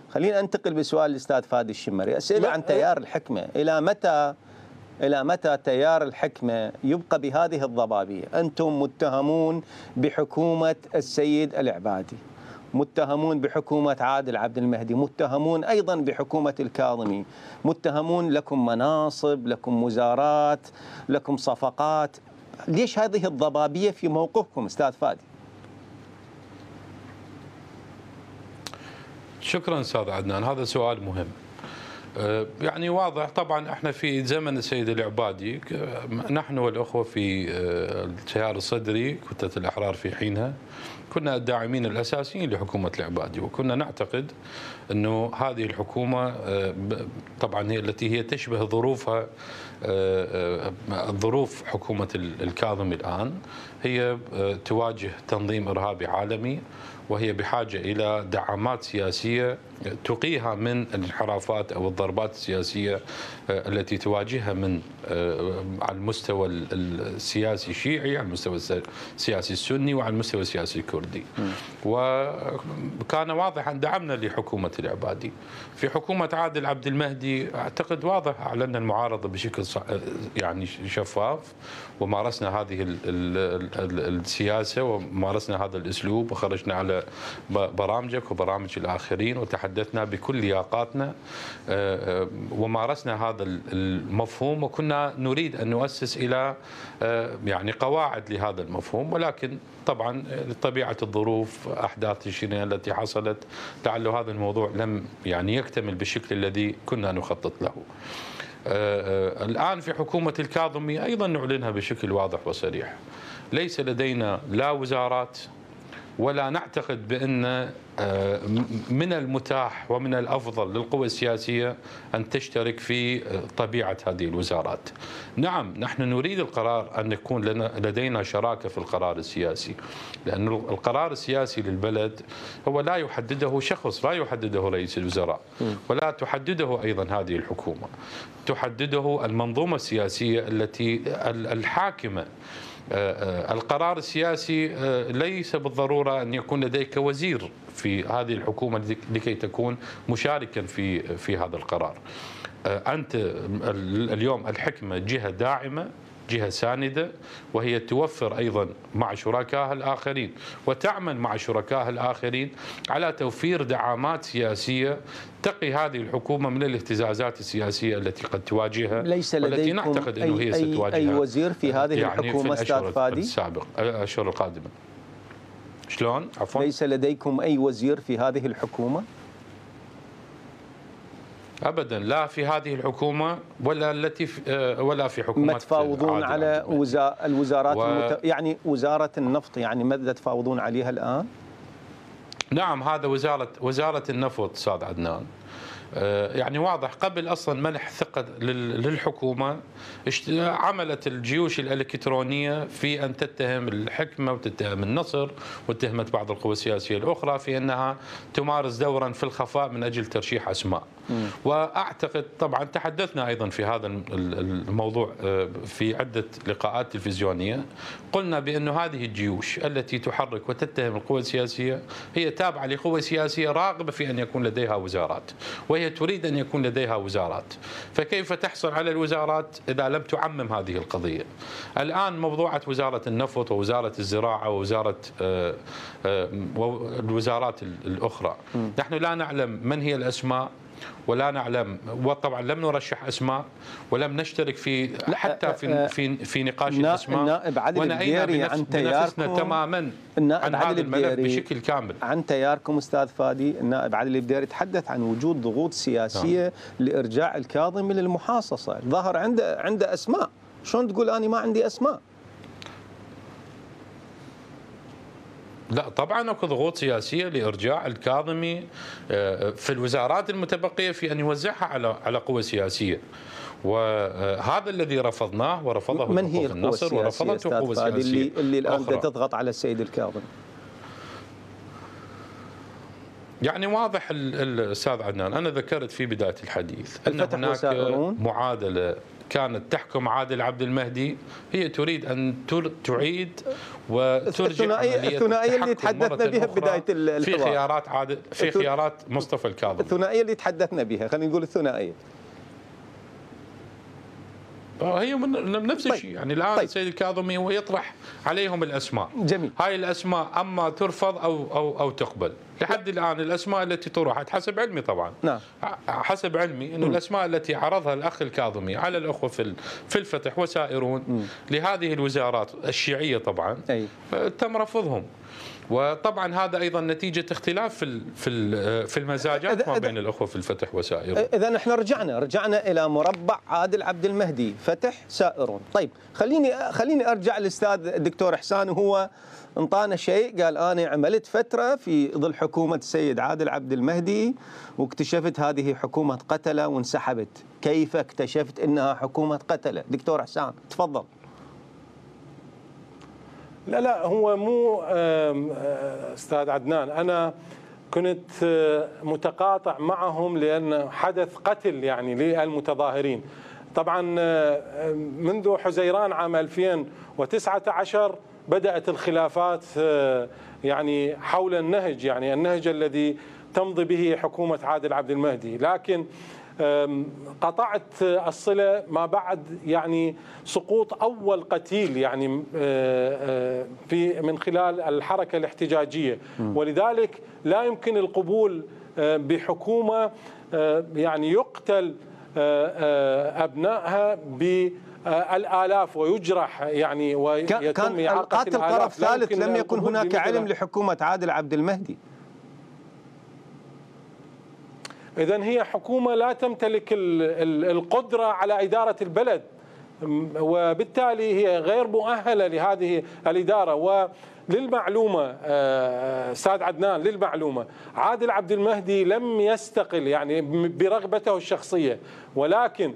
خليني أنتقل بسؤال الأستاذ فادي الشمري، أسئلة عن تيار الحكمة. إلى متى تيار الحكمة يبقى بهذه الضبابية؟ أنتم متهمون بحكومة السيد العبادي، متهمون بحكومة عادل عبد المهدي، متهمون أيضا بحكومة الكاظمي، متهمون لكم مناصب، لكم وزارات، لكم صفقات. ليش هذه الضبابية في موقفكم أستاذ فادي؟ شكرا أستاذ عدنان، هذا سؤال مهم. يعني واضح طبعا احنا في زمن السيد العبادي، نحن والأخوة في التيار الصدري كتلة الأحرار في حينها كنا الداعمين الأساسيين لحكومة العبادي، وكنا نعتقد أنه هذه الحكومة طبعا هي التي هي تشبه ظروفها ظروف حكومة الكاظمي الآن، هي تواجه تنظيم إرهابي عالمي، وهي بحاجة إلى دعامات سياسية تقيها من الانحرافات أو الضربات السياسية التي تواجهها من على المستوى السياسي الشيعي، على المستوى السياسي السني، وعلى المستوى السياسي الكردي. وكان واضحا دعمنا لحكومة العبادي. في حكومة عادل عبد المهدي أعتقد واضح أعلنا المعارضة بشكل يعني شفاف، ومارسنا هذه السياسة ومارسنا هذا الأسلوب، وخرجنا على برامجك وبرامج الآخرين وتحدثنا بكل لياقاتنا ومارسنا هذا المفهوم، وكنا نريد أن نؤسس إلى يعني قواعد لهذا المفهوم، ولكن طبعا لطبيعة الظروف أحداث تشرين التي حصلت لعل هذا الموضوع لم يعني يكتمل بالشكل الذي كنا نخطط له. الآن في حكومة الكاظمي أيضا نعلنها بشكل واضح وصريح، ليس لدينا لا وزارات، ولا نعتقد بأن من المتاح ومن الأفضل للقوى السياسية أن تشترك في طبيعة هذه الوزارات. نعم نحن نريد القرار أن يكون لدينا شراكة في القرار السياسي، لأن القرار السياسي للبلد هو لا يحدده شخص، لا يحدده رئيس الوزراء، ولا تحدده أيضا هذه الحكومة، تحدده المنظومة السياسية التي الحاكمة. القرار السياسي ليس بالضرورة أن يكون لديك وزير في هذه الحكومة لكي تكون مشاركا في هذا القرار. أنت اليوم الحكمة جهة داعمة، جهة ساندة، وهي توفر أيضا مع شركائها الآخرين وتعمل مع شركائها الآخرين على توفير دعامات سياسية تقي هذه الحكومة من الاهتزازات السياسية التي قد تواجهها، ليس والتي نعتقد أنه هي ستواجهها أي وزير في هذه يعني الحكومة أستاذ فادي؟ الأشهر القادمة. شلون؟ عفوا؟ ليس لديكم أي وزير في هذه الحكومة؟ ابدا، لا في هذه الحكومه ولا التي ولا في حكومه. ما تفاوضون على الوزارات يعني وزاره النفط، يعني ماذا تفاوضون عليها الان؟ نعم، هذا وزاره النفط استاذ عدنان. يعني واضح قبل اصلا منح ثقه للحكومه عملت الجيوش الالكترونيه في ان تتهم الحكمه وتتهم النصر واتهمت بعض القوى السياسيه الاخرى في انها تمارس دورا في الخفاء من اجل ترشيح اسماء. واعتقد طبعا تحدثنا ايضا في هذا الموضوع في عده لقاءات تلفزيونيه، قلنا بانه هذه الجيوش التي تحرك وتتهم القوى السياسيه هي تابعه لقوى سياسيه راغبه في ان يكون لديها وزارات، وهي تريد أن يكون لديها وزارات، فكيف تحصل على الوزارات إذا لم تعمم هذه القضية؟ الآن موضوعة وزارة النفط ووزارة الزراعة ووزارة الوزارات الأخرى، نحن لا نعلم من هي الأسماء ولا نعلم، وطبعا لم نرشح اسماء ولم نشترك في حتى في نقاش الاسماء. النائب عادل البديري عن تياركم تماما عن هذا الملف بشكل كامل. عن تياركم استاذ فادي، النائب عادل البديري تحدث عن وجود ضغوط سياسيه لارجاع الكاظمي للمحاصصه، ظهر عنده اسماء، شلون تقول انا ما عندي اسماء؟ لا طبعا اكو ضغوط سياسيه لارجاع الكاظمي في الوزارات المتبقيه في ان يوزعها على قوى سياسيه، وهذا الذي رفضناه ورفضه من هي القوى النصر ورفضته قوى سياسيه اللي الان تضغط على السيد الكاظمي؟ يعني واضح الاستاذ عدنان، انا ذكرت في بدايه الحديث ان هناك معادله كانت تحكم عادل عبد المهدي، هي تريد ان تعيد وترجع الثنائيه اللي تحدثنا بها بدايه الحوار في خيارات عادل، في خيارات مصطفى الكاظمي. الثنائيه اللي تحدثنا بها، خلينا نقول الثنائيه. هي من نفس الشيء يعني الان السيد الكاظمي هو يطرح عليهم الاسماء. جميل. هاي الاسماء اما ترفض او تقبل. لحد الان الاسماء التي طرحت حسب علمي طبعا. نعم. حسب علمي انه الاسماء التي عرضها الاخ الكاظمي على الاخوه في الفتح وسائرون لهذه الوزارات الشيعيه طبعا تم رفضهم. وطبعا هذا ايضا نتيجه اختلاف في المزاجات ما بين الاخوه في الفتح وسائرون. اذا احنا رجعنا الى مربع عادل عبد المهدي، فتح سائرون. طيب خليني ارجع للاستاذ الدكتور احسان، وهو انطانا شيء، قال انا عملت فتره في ظل حكومه السيد عادل عبد المهدي واكتشفت هذه حكومه قتله وانسحبت. كيف اكتشفت انها حكومه قتله؟ دكتور احسان تفضل. لا هو مو استاذ عدنان، انا كنت متقاطع معهم لان حدث قتل يعني للمتظاهرين. طبعا منذ حزيران عام 2019 بدأت الخلافات يعني حول النهج، يعني النهج الذي تمضي به حكومة عادل عبد المهدي، لكن قطعت الصلة ما بعد يعني سقوط أول قتيل يعني من خلال الحركة الاحتجاجية، ولذلك لا يمكن القبول بحكومة يعني يقتل أبنائها بالآلاف ويجرح يعني ويتم كان إعاقة القاتل طرف ثالث، لم يكن هناك علم لحكومة عادل عبد المهدي. إذن هي حكومة لا تمتلك القدرة على إدارة البلد، وبالتالي هي غير مؤهلة لهذه الإدارة. وللمعلومة أستاذ عدنان، للمعلومة عادل عبد المهدي لم يستقل يعني برغبته الشخصية، ولكن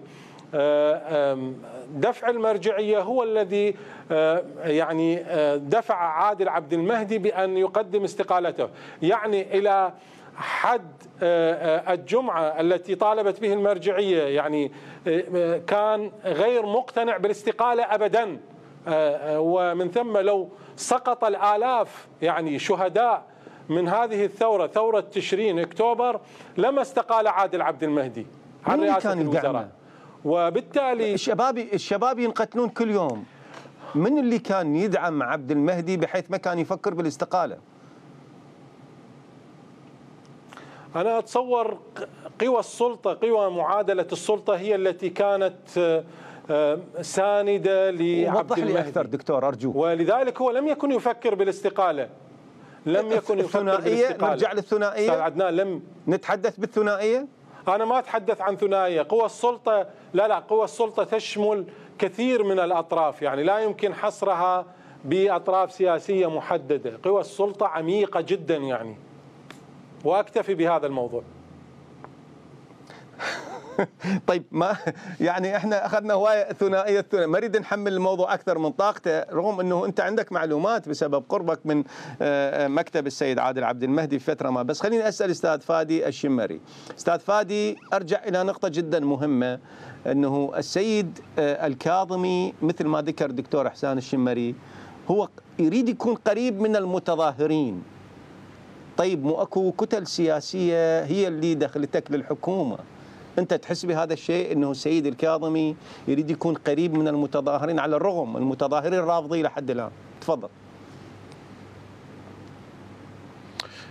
دفع المرجعية هو الذي يعني دفع عادل عبد المهدي بأن يقدم استقالته. يعني إلى حد الجمعة التي طالبت به المرجعية يعني كان غير مقتنع بالاستقالة أبدا، ومن ثم لو سقط الآلاف يعني شهداء من هذه الثورة، ثورة تشرين أكتوبر، لما استقال عادل عبد المهدي عن رئاسة الوزراء. وبالتالي الشباب ينقتلون كل يوم. من اللي كان يدعم عبد المهدي بحيث ما كان يفكر بالاستقالة؟ أنا أتصور قوى السلطة، قوى معادلة السلطة هي التي كانت ساندة لعبد المهدي. وضح لي أكثر دكتور أرجوك. ولذلك هو لم يكن يفكر بالاستقالة، لم يكن يفكر بالاستقالة. نرجع للثنائية أستاذ عدنان، لم نتحدث بالثنائية. أنا ما أتحدث عن ثنائية. قوى السلطة لا قوى السلطة تشمل كثير من الأطراف، يعني لا يمكن حصرها بأطراف سياسية محددة. قوى السلطة عميقة جدا يعني، واكتفي بهذا الموضوع. طيب ما يعني احنا اخذنا هوايه ثنائيه ما اريد نحمل الموضوع اكثر من طاقته، رغم انه انت عندك معلومات بسبب قربك من مكتب السيد عادل عبد المهدي في فتره ما. بس خليني اسال استاذ فادي الشمري. استاذ فادي، ارجع الى نقطه جدا مهمه، انه السيد الكاظمي مثل ما ذكر الدكتور احسان الشمري هو يريد يكون قريب من المتظاهرين. طيب مو اكو كتل سياسيه هي اللي دخلتك للحكومه، انت تحس بهذا الشيء انه السيد الكاظمي يريد يكون قريب من المتظاهرين على الرغم المتظاهرين رافضين لحد الان؟ تفضل.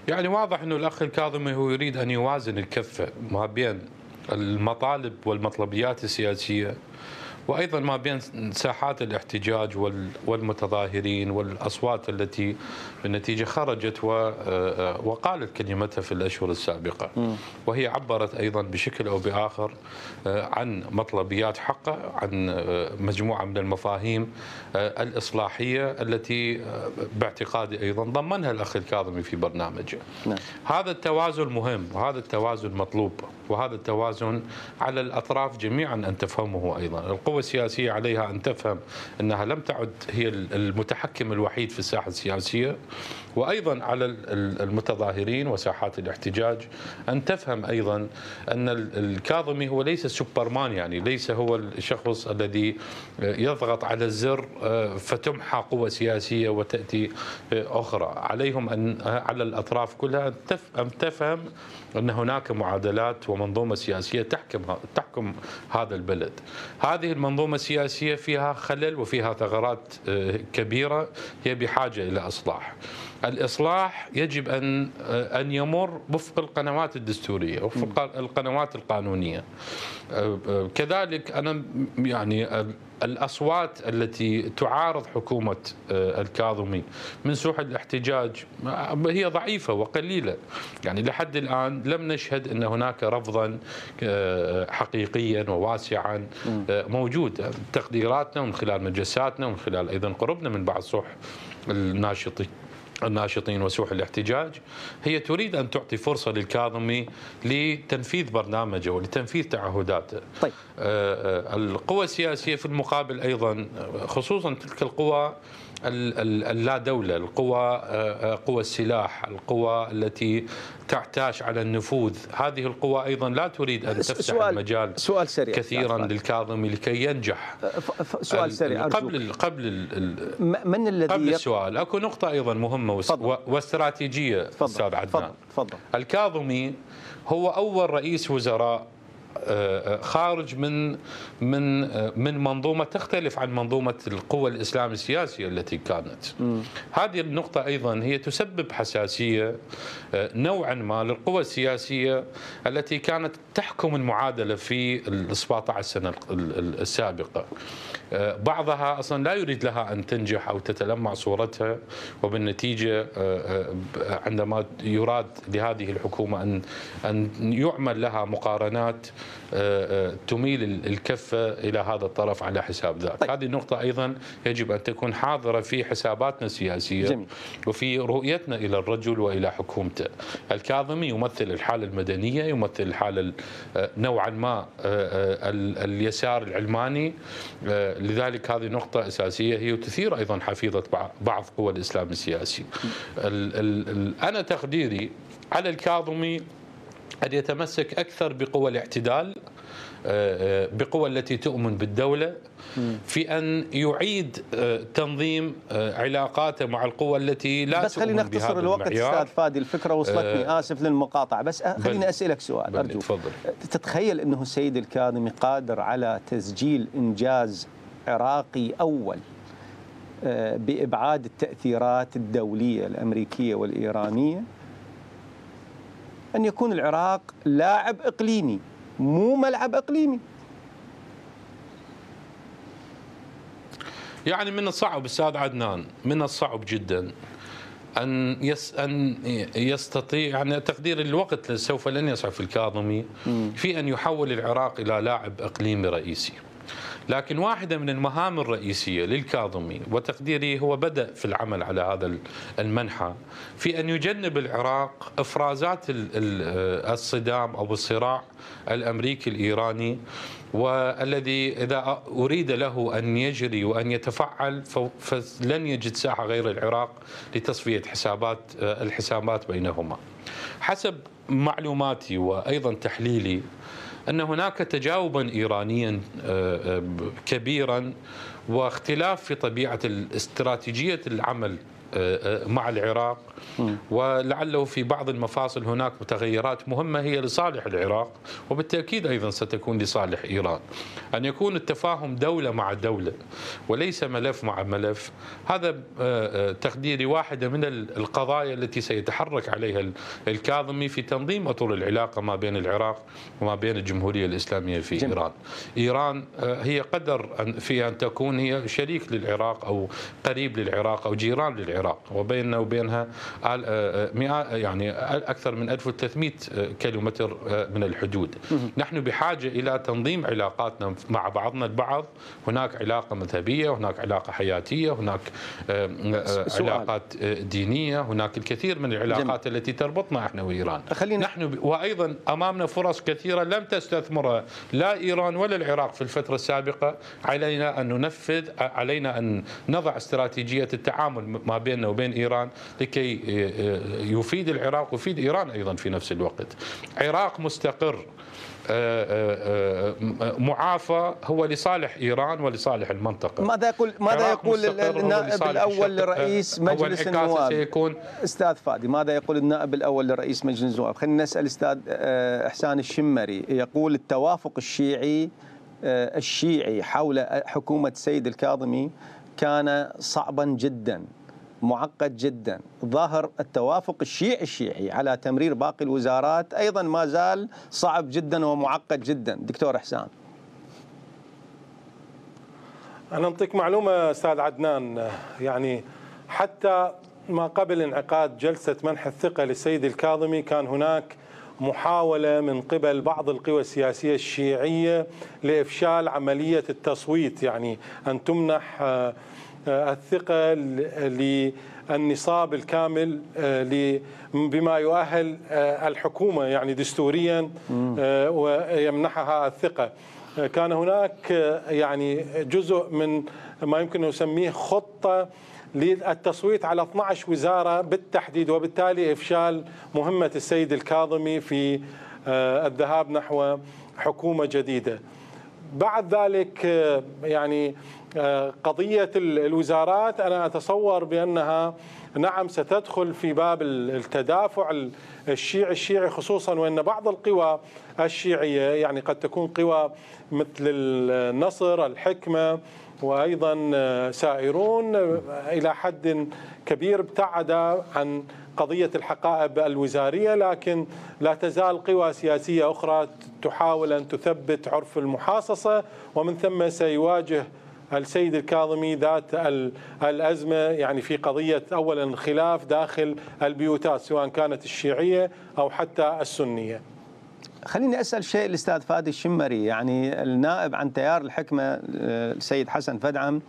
يعني واضح انه الاخ الكاظمي هو يريد ان يوازن الكفه ما بين المطالب والمطلبيات السياسيه وأيضا ما بين ساحات الاحتجاج والمتظاهرين والأصوات التي بالنتيجة خرجت وقالت كلمتها في الأشهر السابقة، وهي عبرت أيضا بشكل أو بآخر عن مطلبيات حقه، عن مجموعة من المفاهيم الإصلاحية التي باعتقادي أيضا ضمنها الأخ الكاظمي في برنامجه. هذا التوازن مهم، وهذا التوازن مطلوب، وهذا التوازن على الأطراف جميعا أن تفهمه. أيضا القوى السياسية عليها أن تفهم أنها لم تعد هي المتحكم الوحيد في الساحة السياسية، وأيضا على المتظاهرين وساحات الاحتجاج أن تفهم أيضا أن الكاظمي هو ليس سوبرمان، يعني ليس هو الشخص الذي يضغط على الزر فتمحى قوة سياسية وتأتي أخرى. عليهم أن على الأطراف كلها أن تفهم أن هناك معادلات ومنظومة سياسية تحكم هذا البلد. هذه المنظومة السياسية فيها خلل وفيها ثغرات كبيرة، هي بحاجة إلى إصلاح. الإصلاح يجب أن يمر وفق القنوات الدستورية وفق القنوات القانونية. كذلك أنا يعني الأصوات التي تعارض حكومة الكاظمي من سوح الاحتجاج هي ضعيفة وقليلة، يعني لحد الآن لم نشهد أن هناك رفضا حقيقيا وواسعا موجود. تقديراتنا ومن خلال مجلساتنا ومن خلال أيضا قربنا من بعض سوح الناشطين وسوح الاحتجاج هي تريد أن تعطي فرصة للكاظمي لتنفيذ برنامجه ولتنفيذ تعهداته. طيب. القوى السياسية في المقابل أيضا، خصوصا تلك القوى اللا دولة، قوى السلاح، القوى التي تعتاش على النفوذ، هذه القوى أيضا لا تريد أن تفتح المجال كثيرا للكاظمي لكي ينجح. سؤال سريع قبل السؤال اكو نقطة أيضا مهمة واستراتيجية أستاذ عدنان. الكاظمي هو أول رئيس وزراء خارج من منظومة تختلف عن منظومة القوى الإسلام السياسية التي كانت. هذه النقطة أيضا هي تسبب حساسية نوعا ما للقوى السياسية التي كانت تحكم المعادلة في 17 سنة السابقة. بعضها أصلا لا يريد لها أن تنجح أو تتلمع صورتها، وبالنتيجة عندما يراد لهذه الحكومة أن يعمل لها مقارنات تميل الكفة إلى هذا الطرف على حساب ذاك. طيب. هذه النقطة أيضا يجب أن تكون حاضرة في حساباتنا السياسية. جميل. وفي رؤيتنا إلى الرجل وإلى حكومته. الكاظمي يمثل الحالة المدنية، يمثل الحالة نوعا ما اليسار العلماني، لذلك هذه نقطة أساسية هي تثير أيضا حفيظة بعض قوى الإسلام السياسي. أنا تقديري على الكاظمي أن يتمسك أكثر بقوى الاعتدال، بقوى التي تؤمن بالدولة، في أن يعيد تنظيم علاقاته مع القوى التي لا بس خلينا نختصر الوقت أستاذ فادي، الفكرة وصلتني، آسف للمقاطعة، بس خليني أسألك سؤال أرجو. تفضل. تتخيل أنه السيد الكاظمي قادر على تسجيل إنجاز عراقي أول بإبعاد التأثيرات الدولية الأمريكية والإيرانية، أن يكون العراق لاعب إقليمي مو ملعب إقليمي؟ يعني من الصعب أستاذ عدنان، من الصعب جدا أن يستطيع، يعني تقدير الوقت سوف لن يسعف الكاظمي في أن يحول العراق إلى لاعب إقليمي رئيسي. لكن واحدة من المهام الرئيسية للكاظمي وتقديري هو بدأ في العمل على هذا المنحى في أن يجنب العراق إفرازات الصدام أو الصراع الأمريكي الإيراني، والذي إذا أريد له أن يجري وأن يتفعل فلن يجد ساحة غير العراق لتصفية الحسابات بينهما. حسب معلوماتي وأيضا تحليلي أن هناك تجاوبا إيرانيا كبيرا واختلاف في طبيعة استراتيجية العمل مع العراق، ولعله في بعض المفاصل هناك متغيرات مهمة هي لصالح العراق وبالتأكيد أيضا ستكون لصالح إيران. أن يكون التفاهم دولة مع دولة وليس ملف مع ملف، هذا تقديري واحدة من القضايا التي سيتحرك عليها الكاظمي في تنظيم أطر العلاقة ما بين العراق وما بين الجمهورية الإسلامية في إيران. إيران هي قدر في أن تكون هي شريك للعراق أو قريب للعراق أو جيران للعراق، وبيننا وبينها يعني أكثر من 1300 كيلومتر من الحدود. نحن بحاجة إلى تنظيم علاقاتنا مع بعضنا البعض. هناك علاقة مذهبية، هناك علاقة حياتية، هناك علاقات دينية، هناك الكثير من العلاقات التي تربطنا احنا وإيران. نحن وأيضا أمامنا فرص كثيرة لم تستثمرها لا إيران ولا العراق في الفترة السابقة. علينا أن ننفذ، علينا أن نضع استراتيجية التعامل ما بيننا وبين إيران لكي يفيد العراق ويفيد إيران أيضا في نفس الوقت. عراق مستقر معافى هو لصالح إيران ولصالح المنطقة. ماذا يقول النائب الأول لرئيس مجلس النواب سيكون أستاذ فادي؟ ماذا يقول النائب الأول لرئيس مجلس النواب؟ خلينا نسأل أستاذ إحسان الشمري. يقول التوافق الشيعي حول حكومة السيد الكاظمي كان صعبا جدا، معقد جدا. ظاهر التوافق الشيعي على تمرير باقي الوزارات أيضا ما زال صعب جدا ومعقد جدا. دكتور إحسان. أنا أنطيك معلومة أستاذ عدنان، يعني حتى ما قبل انعقاد جلسة منح الثقة للسيد الكاظمي كان هناك محاولة من قبل بعض القوى السياسية الشيعية لإفشال عملية التصويت، يعني أن تمنح الثقة للنصاب الكامل بما يؤهل الحكومة يعني دستوريا ويمنحها الثقة. كان هناك يعني جزء من ما يمكن أن نسميه خطة للتصويت على 12 وزارة بالتحديد، وبالتالي إفشال مهمة السيد الكاظمي في الذهاب نحو حكومة جديدة. بعد ذلك يعني قضية الوزارات أنا أتصور بأنها نعم ستدخل في باب التدافع الشيعي، خصوصا وأن بعض القوى الشيعية يعني قد تكون قوى مثل النصر، الحكمة، وأيضا سائرون إلى حد كبير ابتعد عن قضية الحقائب الوزارية، لكن لا تزال قوى سياسية أخرى تحاول أن تثبت عرف المحاصصة، ومن ثم سيواجه السيد الكاظمي ذات الأزمة يعني في قضية أولا الخلاف داخل البيوتات سواء كانت الشيعية أو حتى السنية. خليني أسأل شيء الأستاذ فادي الشمري. يعني النائب عن تيار الحكمة السيد حسن فدعم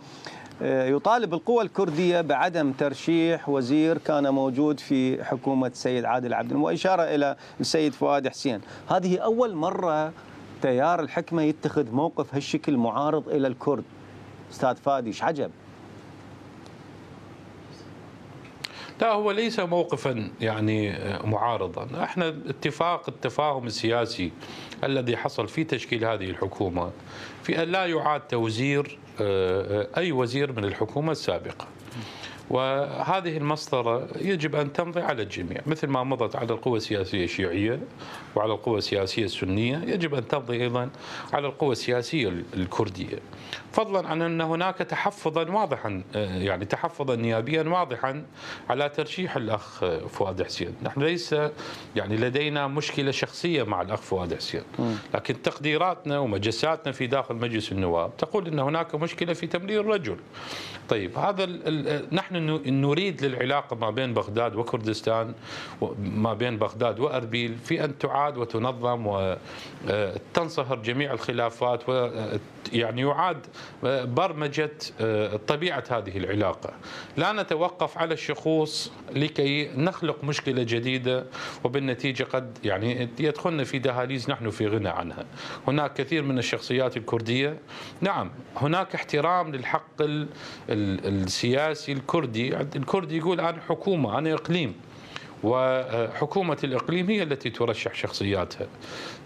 يطالب القوى الكردية بعدم ترشيح وزير كان موجود في حكومة السيد عادل عبد المنعم، وإشارة إلى السيد فؤاد حسين. هذه أول مرة تيار الحكمة يتخذ موقف هالشكل معارض إلى الكرد. أستاذ فادي، ايش عجب؟ لا، هو ليس موقفا يعني معارضا. احنا التفاهم السياسي الذي حصل في تشكيل هذه الحكومة في أن لا يعاد توزير أي وزير من الحكومة السابقة، وهذه المسطرة يجب أن تمضي على الجميع مثل ما مضت على القوى السياسية الشيعية وعلى القوى السياسية السنية، يجب أن تمضي أيضا على القوى السياسية الكردية، فضلا عن أن هناك تحفظا واضحا يعني تحفظا نيابيا واضحا على ترشيح الأخ فؤاد حسين. نحن ليس يعني لدينا مشكلة شخصية مع الأخ فؤاد حسين، لكن تقديراتنا ومجساتنا في داخل مجلس النواب تقول أن هناك مشكلة في تمرير الرجل. طيب، هذا نحن نريد للعلاقة ما بين بغداد وكردستان، ما بين بغداد وأربيل، في أن تعاد وتنظم وتنصهر جميع الخلافات، ويعني يعاد برمجة طبيعة هذه العلاقة. لا نتوقف على الشخوص لكي نخلق مشكلة جديدة وبالنتيجة قد يعني يدخلنا في دهاليز نحن في غنى عنها. هناك كثير من الشخصيات الكردية، نعم هناك احترام للحق السياسي الكردي. الكردي يقول أنا حكومة، أنا إقليم، وحكومة الإقليم هي التي ترشح شخصياتها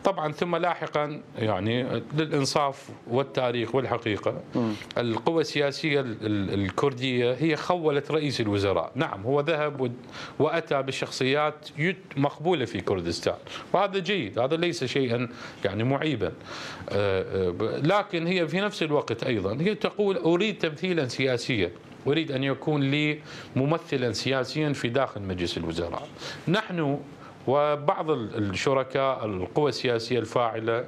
طبعا. ثم لاحقا يعني للإنصاف والتاريخ والحقيقة القوى السياسية الكردية هي خولت رئيس الوزراء. نعم هو ذهب وأتى بشخصيات مقبولة في كردستان، وهذا جيد، هذا ليس شيئا يعني معيبا، لكن هي في نفس الوقت أيضا هي تقول أريد تمثيلا سياسيا، أريد أن يكون لي ممثلا سياسيا في داخل مجلس الوزراء. نحن وبعض الشركاء القوى السياسية الفاعلة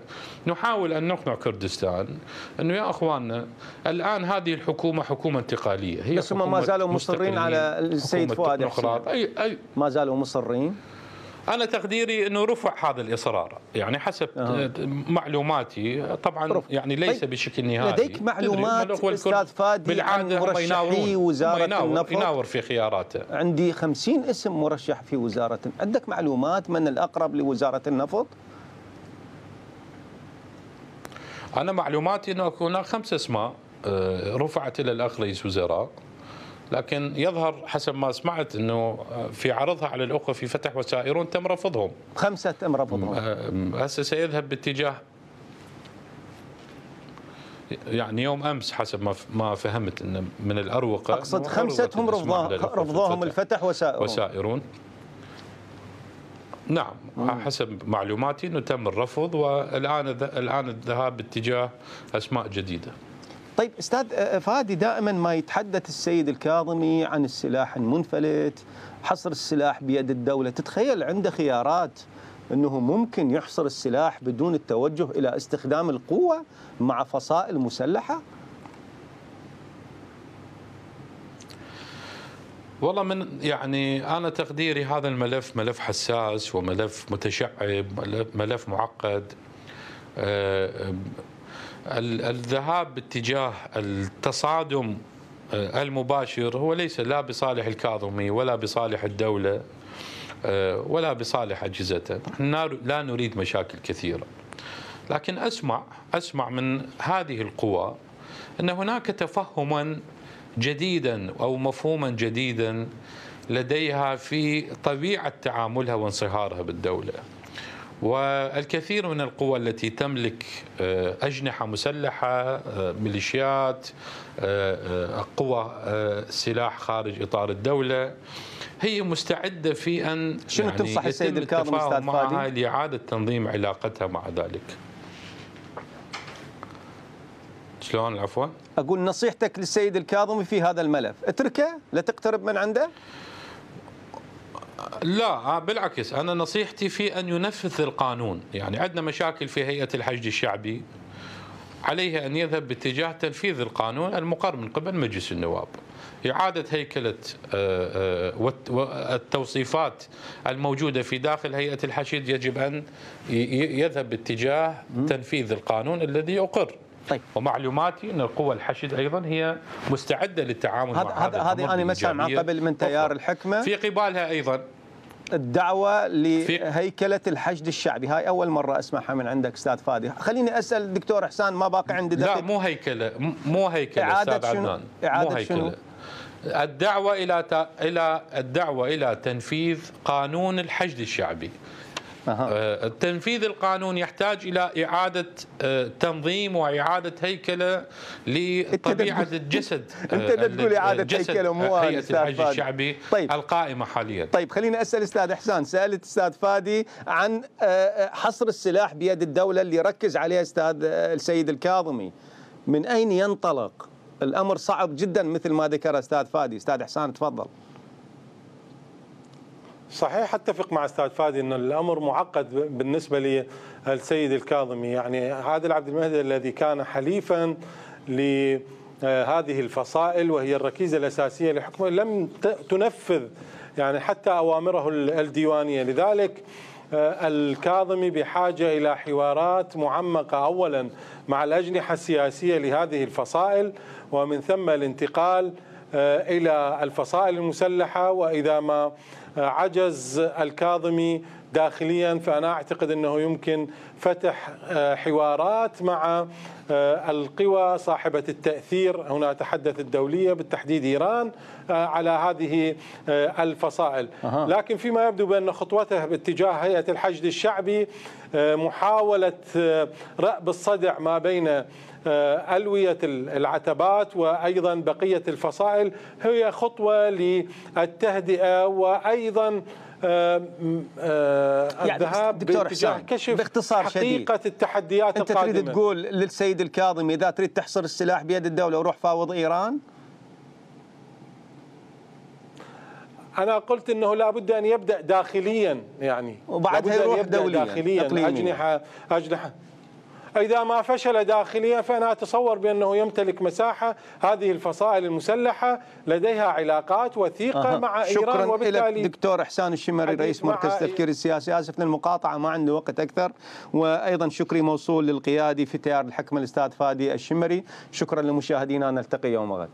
نحاول أن نقنع كردستان أنه يا أخواننا الآن هذه الحكومة حكومة انتقالية، هي بس هم ما زالوا مصرين على السيد فؤاد حسين، ما زالوا مصرين. أنا تقديري أنه رفع هذا الإصرار يعني حسب معلوماتي طبعا يعني ليس بشكل نهائي. لديك معلومات أستاذ فادي عن مرشحي وزارة النفط؟ يناور في خياراته. عندي 50 اسم مرشح في وزارة. عندك معلومات من الأقرب لوزارة النفط؟ أنا معلوماتي أنه هناك 5 أسماء رفعت إلى الأخ رئيس وزراء، لكن يظهر حسب ما سمعت أنه في عرضها على الأخوة في فتح وسائرون تم رفضهم. 5 تم رفضهم. هسه سيذهب باتجاه، يعني يوم أمس حسب ما فهمت أنه من الأروقة، أقصد 5 هم رفضوهم الفتح وسائرون. نعم، حسب معلوماتي أنه تم الرفض، والآن الذهاب باتجاه أسماء جديدة. طيب أستاذ فادي، دائما ما يتحدث السيد الكاظمي عن السلاح المنفلت، حصر السلاح بيد الدولة. تتخيل عنده خيارات أنه ممكن يحصر السلاح بدون التوجه إلى استخدام القوة مع فصائل مسلحة؟ والله يعني أنا تقديري هذا الملف ملف حساس وملف متشعب، ملف معقد. الذهاب باتجاه التصادم المباشر هو ليس لا بصالح الكاظمي ولا بصالح الدولة ولا بصالح أجهزته. نحن لا نريد مشاكل كثيرة، لكن أسمع من هذه القوى أن هناك تفهما جديدا أو مفهوما جديدا لديها في طبيعة تعاملها وانصهارها بالدولة. والكثير من القوى التي تملك أجنحة مسلحة، ميليشيات، قوى سلاح خارج إطار الدولة، هي مستعدة في أن شنو يعني تنصح السيد الكاظم أستاذ معها لإعادة تنظيم علاقتها مع ذلك. شلون العفو؟ أقول نصيحتك للسيد الكاظمي في هذا الملف، اتركه، لا تقترب من عنده؟ لا بالعكس، أنا نصيحتي في أن ينفذ القانون. يعني عندنا مشاكل في هيئة الحشد الشعبي، عليه أن يذهب باتجاه تنفيذ القانون المقرر من قبل مجلس النواب، إعادة هيكلة التوصيفات الموجودة في داخل هيئة الحشد. يجب أن يذهب باتجاه تنفيذ القانون الذي أقر. طيب. ومعلوماتي أن القوى الحشد أيضا هي مستعدة للتعامل مع هذه أنا مسامع قبل من تيار الحكمة في قبالها أيضا الدعوة لهيكلة الحشد الشعبي. هاي أول مرة أسمعها من عندك أستاذ فادي. خليني أسأل الدكتور إحسان، ما باقي عندي دقيقة. لا مو هيكلة أستاذ عدنان، إعادة شنو؟ الدعوة إلى تنفيذ قانون الحشد الشعبي. تنفيذ القانون يحتاج إلى إعادة تنظيم وإعادة هيكلة لطبيعة الجسد. أنت تقول إعادة هيكلة مو هيئة الحشد الشعبي. طيب. القائمة حاليا. طيب خليني أسأل أستاذ إحسان، سألت أستاذ فادي عن حصر السلاح بيد الدولة اللي ركز عليه أستاذ السيد الكاظمي. من أين ينطلق؟ الأمر صعب جدا مثل ما ذكر أستاذ فادي. أستاذ إحسان تفضل. صحيح، اتفق مع استاذ فادي ان الامر معقد بالنسبه للسيد الكاظمي. يعني عادل عبد المهدي الذي كان حليفا لهذه الفصائل وهي الركيزه الاساسيه لحكمه لم تنفذ يعني حتى اوامره الديوانيه. لذلك الكاظمي بحاجه الى حوارات معمقه اولا مع الاجنحه السياسيه لهذه الفصائل، ومن ثم الانتقال الى الفصائل المسلحه. واذا ما عجز الكاظمي داخليا فأنا أعتقد أنه يمكن فتح حوارات مع القوى صاحبة التأثير، هنا أتحدث الدولية بالتحديد إيران، على هذه الفصائل. لكن فيما يبدو بأن خطوته باتجاه هيئة الحشد الشعبي محاولة رأب الصدع ما بين ألوية العتبات وأيضا بقية الفصائل هي خطوة للتهدئة وأيضا الذهاب باتجاه كشف حقيقة التحديات القادمة. أنت تريد تقول للسيد الكاظمي إذا تريد تحصر السلاح بيد الدولة وروح فاوض إيران؟ أنا قلت أنه لا بد أن يبدأ داخليا، يعني وبعدها يروح دوليا داخليا أجنحة. إذا ما فشل داخليا فأنا أتصور بأنه يمتلك مساحة. هذه الفصائل المسلحة لديها علاقات وثيقة مع إيران، وبالتالي شكرا لك دكتور إحسان الشمري رئيس مركز التفكير السياسي. آسف للمقاطعة ما عندي وقت أكثر. وأيضا شكري موصول للقيادي في تيار الحكمة الأستاذ فادي الشمري. شكرا لمشاهدينا، نلتقي يوم غد.